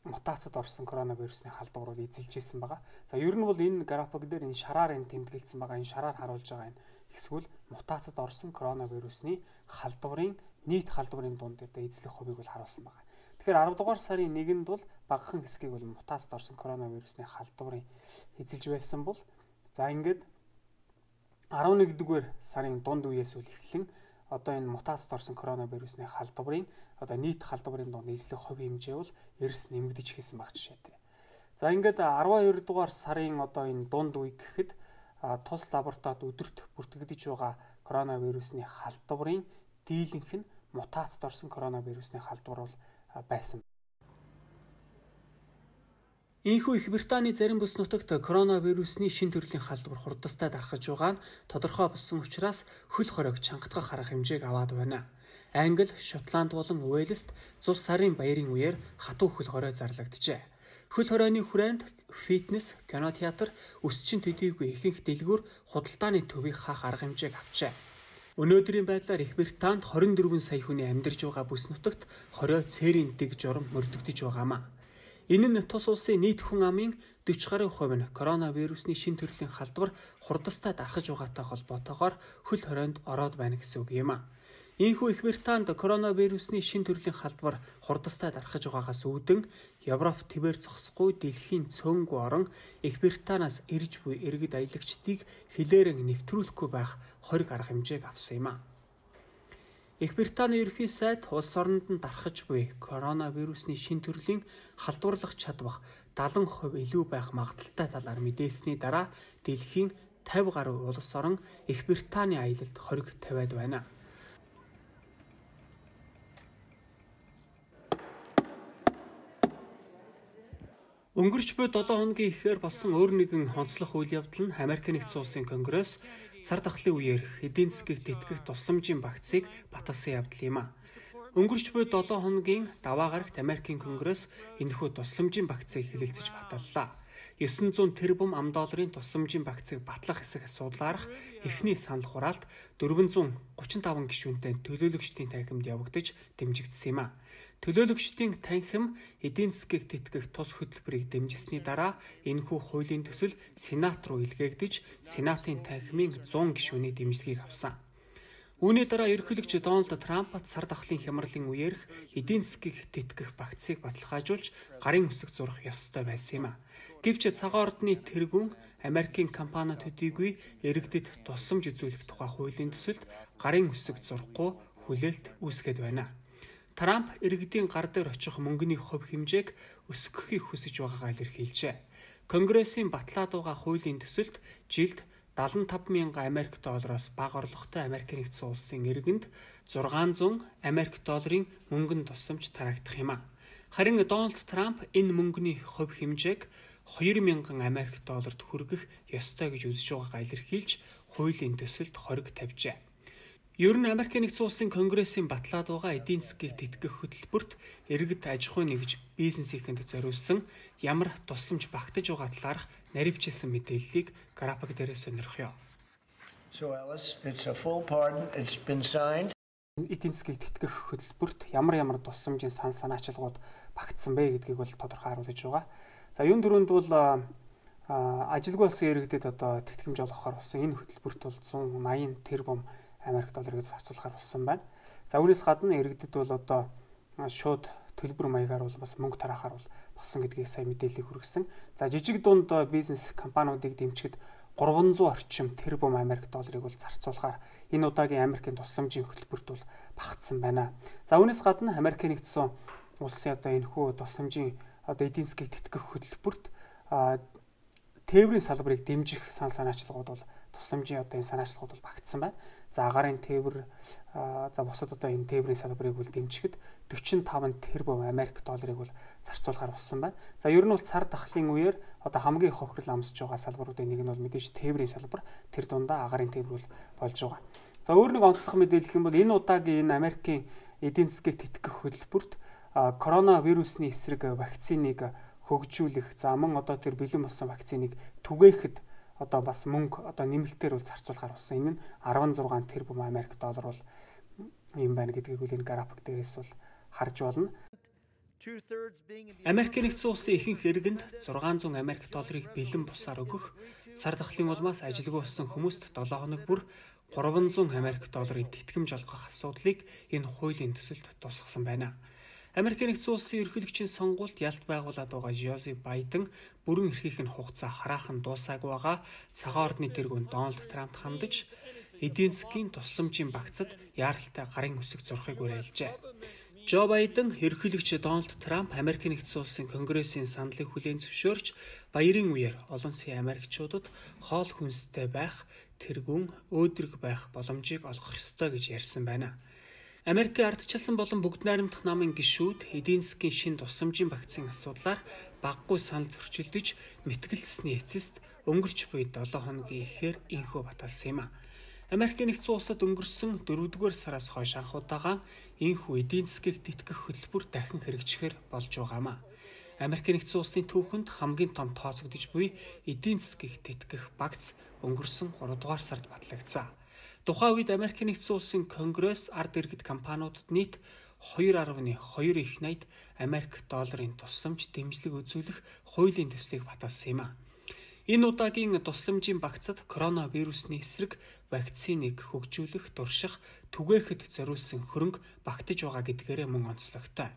мутацид орсон коронавирусны халдвар бол эзэлж ирсэн байгаа. За ер нь бол энэ график дээр энэ шараар энэ тэмдэглэсэн байгаа. Энэ шараар харуулж байгаа энэ хэсгүүл мутацид орсон коронавирусны халдварын нийт халдварын дунд дээр эзлэх хувийг бол харуулсан байгаа. Тэгэхээр арав дугаар сарын нэгэнд бол багахан хэсгийг бол мутацид орсон коронавирусны халдварын эзэлж байсан бол за ингээд арав нэгдүгээр сарын дунд үеэс үл эхлэн одоо энэ мутацид орсон коронавирусны халдварын одоо нийт халдварын дунд эзлэх хувийн хэмжээ бол эрс нэмэгдэж эхэлсэн баг жишээтэй. За ингээд арван хоёр дугаар сарын одоо энэ дунд үе гэхэд тус лабораторид өдөрт бүртгэгдэж байгаа коронавирусны халдварын дийлэнх нь мутацид орсон коронавирусны халдвар бол байсан. Ийхүү Их Британий зарим бүс нутагт коронавирусны шинэ төрлийн халдвар хурдастай дарахж байгаа нь тодорхой болсон учраас хөл хоройг чангатгах арга хэмжээг аваад байна. Англи, Шотланд болон Уэльст зул сарын баярын үеэр хатуу хөл хорой зарлагджээ. Хөл хоройны хүрээнд фитнес, кинотеатр, өсчин төдийгүй ихэнх дэлгүүр худалдааны төвийг хаах арга хэмжээг авчээ. Өнөөдрийн байдлаар Их Британд хорин дөрвөн сая хүний амьдарч байгаа бүс нутагт хорой цээрийн дэг журам мөрдөгдөж байгаамаа. Энэ нь тус улсын нийт хүн амын дөрвөн гаруй хувь нь коронавирусны шинэ төрлийн халдвар хурдастай дарахж байгаатай холбоотойгоор хөл хоройнд ороод байна гэсэн үг юм а. Ийхүү Их Британд коронавирусны шинэ төрлийн халдвар хурдастай дарахж байгаагаас үүдэн Европ твээр зогсохгүй дэлхийн цөөнгүй орон Их Британаас ирж буй иргэд аялагчдыг хилээрэн нэвтрүүлэхгүй байх хориг арга хэмжээг авсан юм а. Их Британий ерөнхий сайд улс оронд нь дарахж буй коронавирусны шинэ төрлийн халдварлах чадвах даатан хувь илүү байх магадaltaй талаар мэдээсний дараа дэлхийн тавь гаруй улс орон Их Британий аялалд хориг тавиад байна. Өнгөрч буй долоо хоногийн ихээр болсон өөр нэгэн онцлог үйл явдал нь Америк нэгдсэн улсын Конгресс сар дахлын үеэр эдийн засгийг тэтгэх тусламжийн багцыг баталсан явдал юм а. Өнгөрч буй долоо хоногийн даваа гарагт Америкийн Конгресс энэхүү тусламжийн багцыг хэлэлцэж баталлаа. девятьсот тэрбум ам долларын тусламжийн багцыг батлах хэсэг асуудлаарх эхний санал хураалт дөрвөнзөөр гучин таван гишүүнтэй төлөөлөгчдийн танхимд явагдаж дэмжигдсэн юм а. Төлөөлөгчдийн танхим эдийн засгийг тэтгэх тус хөтөлбөрийг дэмжсэний дараа энэхүү хуулийн төсөл Сенат руу илгээгдэж Сенатын танхимын зуун гишүүний дэмжлэгийг авсан. Үүний дараа ерөнхийлөгч Дональд Трамп сар дахлын хямралын үеэрх эдийн засгийг тэтгэх багцыг баталгаажуулж гарын үсэг зурах ёстой байсан юм а. Гэвч цагаан ордны тэргүүн Америкийн компаниуд төдийгүй иргэдэд тусламж үзүүлэх тухай хуулийн төсөлд гарын үсэг зурахгүй хүлээлт үүсгээд байна. Трамп иргэдийн гар дээр очих мөнгөний хувь хэмжээг өсгөхийг хүсэж байгаагаа илэрхийлжээ. Конгрессийн батлаад байгаа хуулийн төсөлд жилд дагалан таван мянган Америк доллароос бага орлоготой Америк нэгдсэн улсын иргэнд зургаан зуун Америк долларын мөнгөнд тусламж тараагдах юм а. Харин Дональд Трамп энэ мөнгөний хувь хэмжээг хоёр мянган Америк долларт хүргэх ёстой гэж үзэж байгаагаа илэрхийлж хуулийн төсөлд хориг тавьжээ. Ер нь Америк нэгдсэн улсын Конгрессийн батлаад байгаа эдийн засгийг тэтгэх хөтөлбөрт иргэд аж ахуй нэгж бизнесийнхэнд зориулсан ямар тусламж багтаж байгаа талаарх наривчилсан мэдээллийг график дээр сонирхъё. So Alice, it's a full pardon. It's been signed. Эдийн засгийг тэтгэх хөтөлбөрт ямар ямар тусламжийн сан санаачилгууд багтсан бэ гэдгийг бол тодорхой харуулж байгаа. За юун дөрөнд бол ажилгүй болсон иргэдэд одоо тэтгэмж олгохоор болсон энэ хөтөлбөрт бол зуун наян тэрбум Америк долларыг зарцуулахар болсон байна. За үүнээс гадна иргэдэд бол одоо шууд төлбөр маягаар бол бас мөнгө тараахаар бол болсон гэдгийг сайн мэдээлэл хүргэсэн. За жижиг дунд бизнес компаниудыг дэмжихэд гурванзуун орчим тэрбум Америк долларыг бол зарцуулахаар энэ удаагийн Америкийн тусламжийн хөтөлбөрт бол багтсан байна. За үүнээс гадна Америк нэгдсэн улсын одоо энэхүү тусламжийн одоо эдийн засгийг тэтгэх хөтөлбөрт тээврийн салбарыг дэмжих сан санаачлагууд бол тусламжийн одоо энэ санаачлагууд бол багтсан байна. За агарын тээвэр за бусад одоо энэ тээврийн салбарыг бол дэмжихэд дөрвөн таван тэрбум Америк долларыг бол зарцуулахар болсон байна. За ер нь бол цар тахлын үеэр одоо хамгийн хохирол амсж байгаа салбаруудын нэг нь бол мэдээж тээврийн салбар, тэр дундаа агарын тээвэр бол болж байгаа. За өөр нэг онцлог мэдээлэл гэх юм бол энэ удаагийн энэ Америкийн эдийн засгийг тэтгэх хөтөлбөрт коронавирусны эсрэг вакциныг хөгжүүлэх, за мөн одоо тэр бэлэн болсон вакциныг түгээхэд одоо бас мөнгө одоо нэмэлтээр бол зарцуулахар болсон. Энэ нь арван зургаан тэрбум Америк доллар бол юм байна гэдгийг үл энэ график дээрээс бол харж болно. Америк нэгдсэн улсын ихэнх иргэнд зургаан зуун Америк долларыг бэлэн бусаар өгөх, сар дахлын улмаас ажилгүй болсон хүмүүст долоо хоног бүр гурван зуун Америк долларын тэтгэмж олгох асуудлыг энэ хуулийн төсөлд тусгасан байна. Америк нэгдсэн улсын ерөнхийлөгчийн сонгуульд ялт байгуулад байгаа Жозеф Байден бүрэн эрхийнх нь хугацаа хараахан дуусаагүй байгаа цагаан ордны тэргүүн Дональд Трампт хандаж эдийн засгийн тусламжийн багцад яаралтай гарын үсэг зурхыг уриалжээ. Жо Байден ерөнхийлөгч Дональд Трамп Америк нэгдсэн улсын Конгрессийн саналыг хүлээн зөвшөөрч баярын үеэр олон сая Америкчуудад хоол хүнстэй байх, тэргүүн өөдрөг байх боломжийг олгох ёстой гэж ярьсан байна. Америкийн ардчилсан болон бүгд найрамдах намын гишүүд эдийн засгийн шин тусламжийн багцын асуудлаар баггүй санал зөрчилдөж мэтгэлцсэний эцэст өнгөрч буй долоо хоногийн ихээр инхүү баталсан юм а. Америк нэгдсэн улсад өнгөрсөн дөрөвдүгээр сараас хойш анх удаага инхүү эдийн засгийг тэтгэх хөтөлбөр дахин хэрэгжихээр болж байгаамаа. Америк нэгдсэн улсын түүхэнд хамгийн том тооцогдож буй эдийн засгийг тэтгэх багц өнгөрсөн гурав дугаар сард батлагдсан. Тухайн үед Америк нэгдсэн улсын Конгресс ард иргэд компаниудад нийт хоёр арван хоёр их найд Америк долларын тусламж дэмжлэг үзүүлэх хуулийн төслийг баталсан юм а. Энэ удаагийн тусламжийн багцад коронавирусны эсрэг вакциныг хөгжүүлэх, турших, түгээхэд зориулсан хөрөнгө багтаж байгаа гэдгээрээ мөн онцлогтой.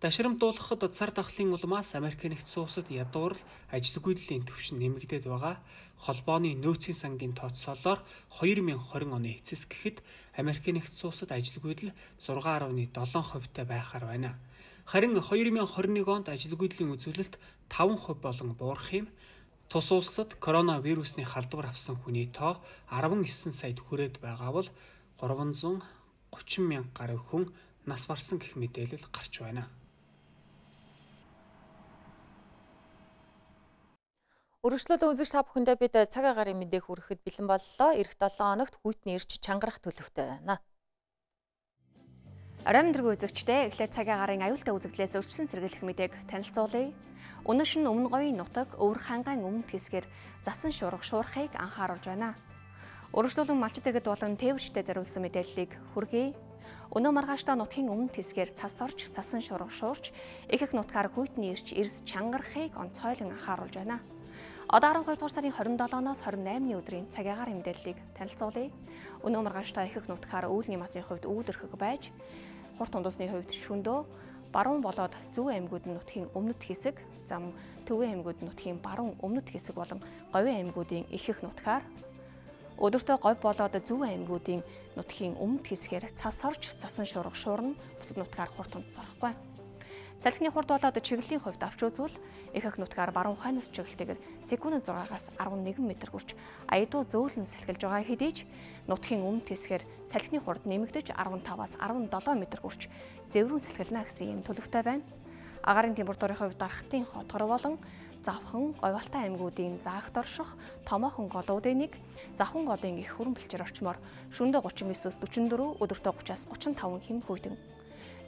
Дашрамдуулахад цар тахлын улмаас Америк нэгдсэн улсад ядуурл ажилгүйдлийн түвшин нэмэгдээд байгаа холбооны нөөцийн сангийн тооцоолоор хоёр мянган двадцать оны эцэс гэхэд Америк нэгдсэн улсад ажилгүйдэл зургаан гаруй долоо хувьтай байхаар байна. Харин хоёр мянган двадцать нэг онд ажилгүйдлийн үзүүлэлт таван хувь болон буурах юм. Тус улсад коронавирусны халдвар авсан хүний тоо арван эсен саяд хүрээд байгаа бол гурван зуун гучин мянга гаруй хүн нас барсан гэх мэдээлэл гарч байна. Өргөжлөлөө үзэгч та бүхэндээ бид цаг агарын мэдээг хүрэхэд бэлэн боллоо. Ирэх долоо хоногт хүйтний ирж чангарах төлөвтэй байна. Оройн дэргүй үзэгчдээ эхлээд цаг агарын аюултай үзэгдлээс өрчсөн сэргийлэх мэдээг танилцуулъя. Өнөөш нь өмнө говийн нутаг өвөр хангаан өмнөд хэсгээр засан шуурга шуурхыг анхааруулж байна. Өргөжлөлөн малчид иргэд болон тээвэрчдэд зориулсан мэдээллийг хүргэе. Өнөө маргааштай нутгийн өмнөд хэсгээр цас орж цасан шуурга шуурч их их нутгаар хүйтний ирж эрс чангарахыг онцгойлон анхааруулж байна. Одоо арван хоёр дугаар сарын хорин долооноос хорин наймны өдрийн цаг агарын мэдээллийг танилцуулъя. Өнөө маргааштай их их нутгаар өвөлний масын хувьд өвөлөрхөг байж, хурд тундусны хувьд шөндөө, баруун болоод зүүн аймагуд нутгийн өмнөд хэсэг, зам төвийн аймагуд нутгийн баруун өмнөд хэсэг болон говийн аймагуудын их их нутгаар, өдөртөө говь болоод зүүн аймагуудын нутгийн өмнөд хэсгээр цас орж цасан шуурга шуурна, бусад нутгаар хурд тундас орохгүй. Салхины хурд болоод чиглэлийн хувьд авч үзвэл их их нутгаар баруун хойноос чиглэлтэйгээр секундэд зургаагаас арван нэгэн метр хүрч аядуу зөөлөн салхилж байгаа хэдий ч нутгийн өмнөд хэсгээр салхины хурд нэмэгдэж арван таваас арван долоо метр хүрч зэврүүн салхилна гэсэн юм төлөвтэй байна. Агаарын температурын хувьд дарахтын хотгор болон завхан, говьалтай аймагуудын заагт орших, томоохон голуудын нэг, завхан голын их хүрэн бэлчээр орчмоор шөнөдөө гучин девятөөс дөрвөн дөрвөн, өдөртөө гучаас гучин таван хэм хүйтэн.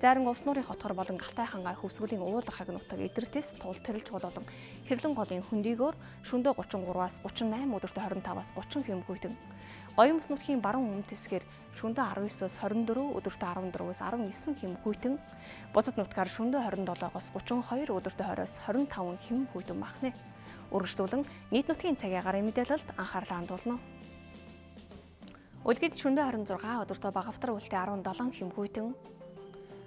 Зарим увс нуурын хотгор болон галтай хангаа хөвсгөлийн уулархаг нутаг эдэртэс тул тэрэлж болон хэрлэн голын хөндийгөөр шөнөдөө гучин гураваас гучин найман, өдөртөө хорин таваас гучин хэм хүйтэн. Гоёмс нутгийн баруун өмнөд хэсгээр шөнөдөө арван девятөөс хорин дөрвөн, өдөртөө арван дөрвөөс арван девять хэм хүйтэн. Бузад нутгаар шөнөдөө хорин долоогоос гучин хоёр, өдөртөө двадцать-оос хорин таван хэм хүйтэн багтана. Үргэлжлүүлэн нийт нутгийн цаг агарын мэдээлэлд анхаарлаа хандуулна. Улгид шөнөдөө хорин зургаан, өдөртөө багавтар үлтээ арван долоо хэм хүйтэн.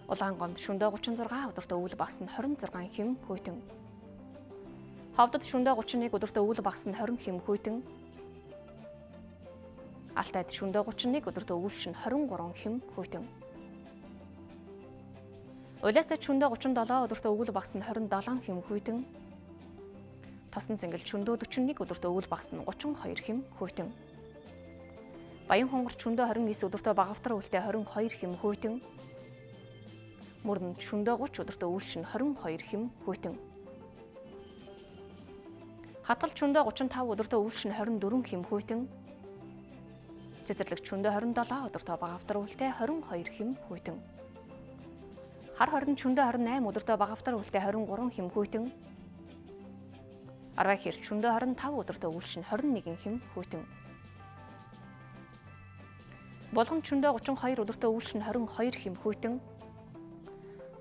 Улаангомд шөнөдөө гучин зургаан, өдөртөө өвөл багас нь хорин зургаан хэм хүйтэн. Ховдод шөнөдөө гучин нэг, өдөртөө өвөл багас нь хорин хэм хүйтэн. Алтайд шөнөдөө гучин нэг, өдөртөө өвөлч нь хорин гурван хэм хүйтэн. Улаастад шөнөдөө гучин долоо, өдөртөө өвөл багас нь хорин долоо хэм хүйтэн. Тосон цэнгэл шөнөдөө дөрвөн нэг, өдөртөө өвөл багас нь гучин хоёр хэм хүйтэн. Баян хонгорч шөнөдөө хорин девять, өдөртөө багавтар үлтээ хорин хоёр хэм хүйтэн. Мөрөнд шөнөдөө гучин, өдөртөө өвөлч нь хорин хоёр хэм хүйтэн. Хатгалт шөнөдөө гучин тав, өдөртөө өвөлч нь хорин дөрвөн хэм хүйтэн. Цэцэрлэгт шөнөдөө хорин долоо, өдөртөө багавтар үлтээ хорин хоёр хэм хүйтэн. Хар хорин шөнөдөө хорин найман, өдөртөө багавтар үлтээ хорин гурван хэм хүйтэн. Арвай хэрч шөнөдөө хорин тав, өдөртөө өвөлч нь хорин нэгэн хэм хүйтэн. Болгонд шөнөдөө гучин хоёр, өдөртөө өвөлч нь хорин хоёр хэм хүйтэн.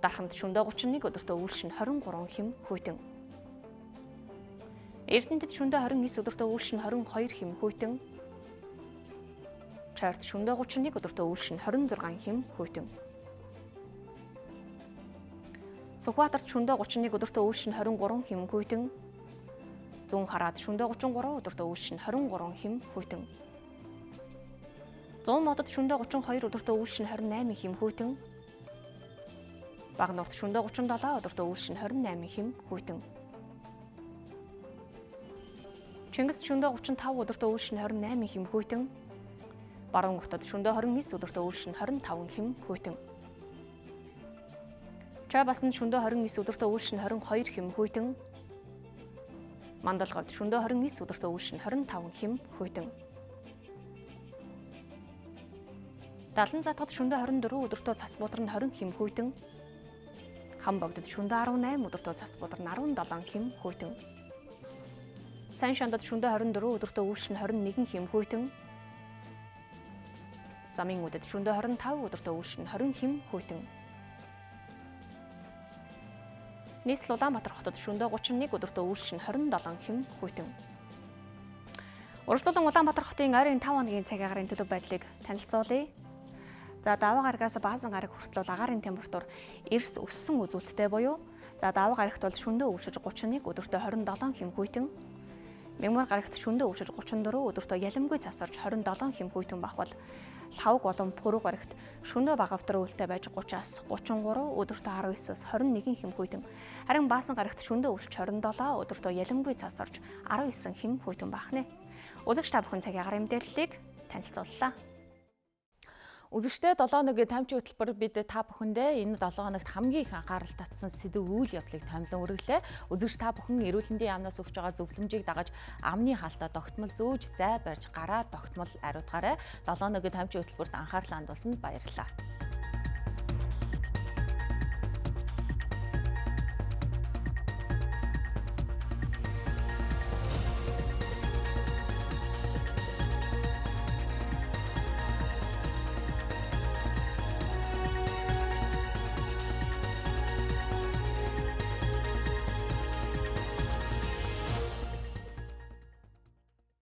Дарханд шөнөдөө гучин нэг, өдөртөө өвөлч нь хорин гурван хэм хүйтэн. Эрдэнэтэд шөнөдөө хорин девять, өдөртөө өвөлч нь хорин хоёр хэм хүйтэн. Чарт шөнөдөө гучин нэг, өдөртөө өвөлч нь хорин зургаан хэм хүйтэн. Сүхбаатарт шөнөдөө гучин нэг, өдөртөө өвөлч нь хорин гурван хэм хүйтэн. Зүүн хараад шөнөдөө гучин гурав, өдөртөө өвөлч нь хорин гурван хэм хүйтэн. Зүүн модод шөнөдөө гучин хоёр, өдөртөө өвөлч нь хорин восемь хэм хүйтэн. Баг нурт шөнөдөө гучин долоо, өдөртөө өвөлч нь хорин восемь хэм хүйтэн. Чингис шөнөдөө гучин тав, өдөртөө өвөлч нь хорин восемь хэм хүйтэн. Баруун хотод шөнөдөө хорин девять, өдөртөө өвөлч нь хорин таван хэм хүйтэн. Чабасанд шөнөдөө хорин девять, өдөртөө өвөлч нь хорин хоёр хэм хүйтэн. Мандалгад шөнөдөө хорин девять, өдөртөө өвөлч нь хорин таван хэм хүйтэн. Далан затгад шөнөдөө хорин дөрвөн, өдөртөө цац буудар нь хорин хэм хүйтэн. Хам богдод шөнөдөө арван восемь, өдөртөө цац буудар нь арван долоо хэм хүйтэн. Сайн шандад шөнөдөө хорин дөрвөн, өдөртөө өвөлч нь хорин нэгэн хэм хүйтэн. Замын үдэд шөнөдөө хорин тав, өдөртөө өвөлч нь хорин хэм хүйтэн. Нийслэл Улаанбаатар хотод шөнөдөө гучин нэг, өдөртөө өвөлч нь хорин долоо хэм хүйтэн. Урьдчилан Улаанбаатар хотын ойрын тавь хоногийн цаг агарын төлөв байдлыг танилцуулъя. За даваа гарагаас баасан гараг хүртэл агаарын температур эрс өссөн үзүүлэлттэй буюу за даваа гарагт бол шөнөдөө өвчөж гучин нэг, өдөртөө хорин долоо хэм хүйтэн. Мягмар гарагт шөнөдөө өвчөж гучин дөрвөн, өдөртөө ялимгүй цас орж хорин долоо хэм хүйтэн бахвал лавг болон пүрэв гарагт шөнөө багавдар өвөлтэй байж гучаас гучин гурав, өдөртөө арав есөөс хорин нэгэн хэм хүйтэн. Харин баасан гарагт шөнөө өвөлч хорин долоо, өдөртөө ялангуй цас орж арав эсэн хэм хүйтэн баахнэ. Үзэгч та бүхэн цагийн агаар мэдээллийг танилцууллаа. Үзэгчдээ долоо хоногийн таймчийн хөтөлбөр бид та бүхэндээ энэ долоо хоногт хамгийн их анхаарал татсан сэдв үйл явдлыг томилон өргөлээ. Үзэгч та бүхэн эрүүл мэндийн яамнаас өгч байгаа зөвлөмжийг дагаж амны хаалтаа тогтмол зөөж зай барьж гараа тогтмол ариутгаарай. долоо хоногийн таймчийн хөтөлбөрт анхаарал хандуулсанд баярлалаа.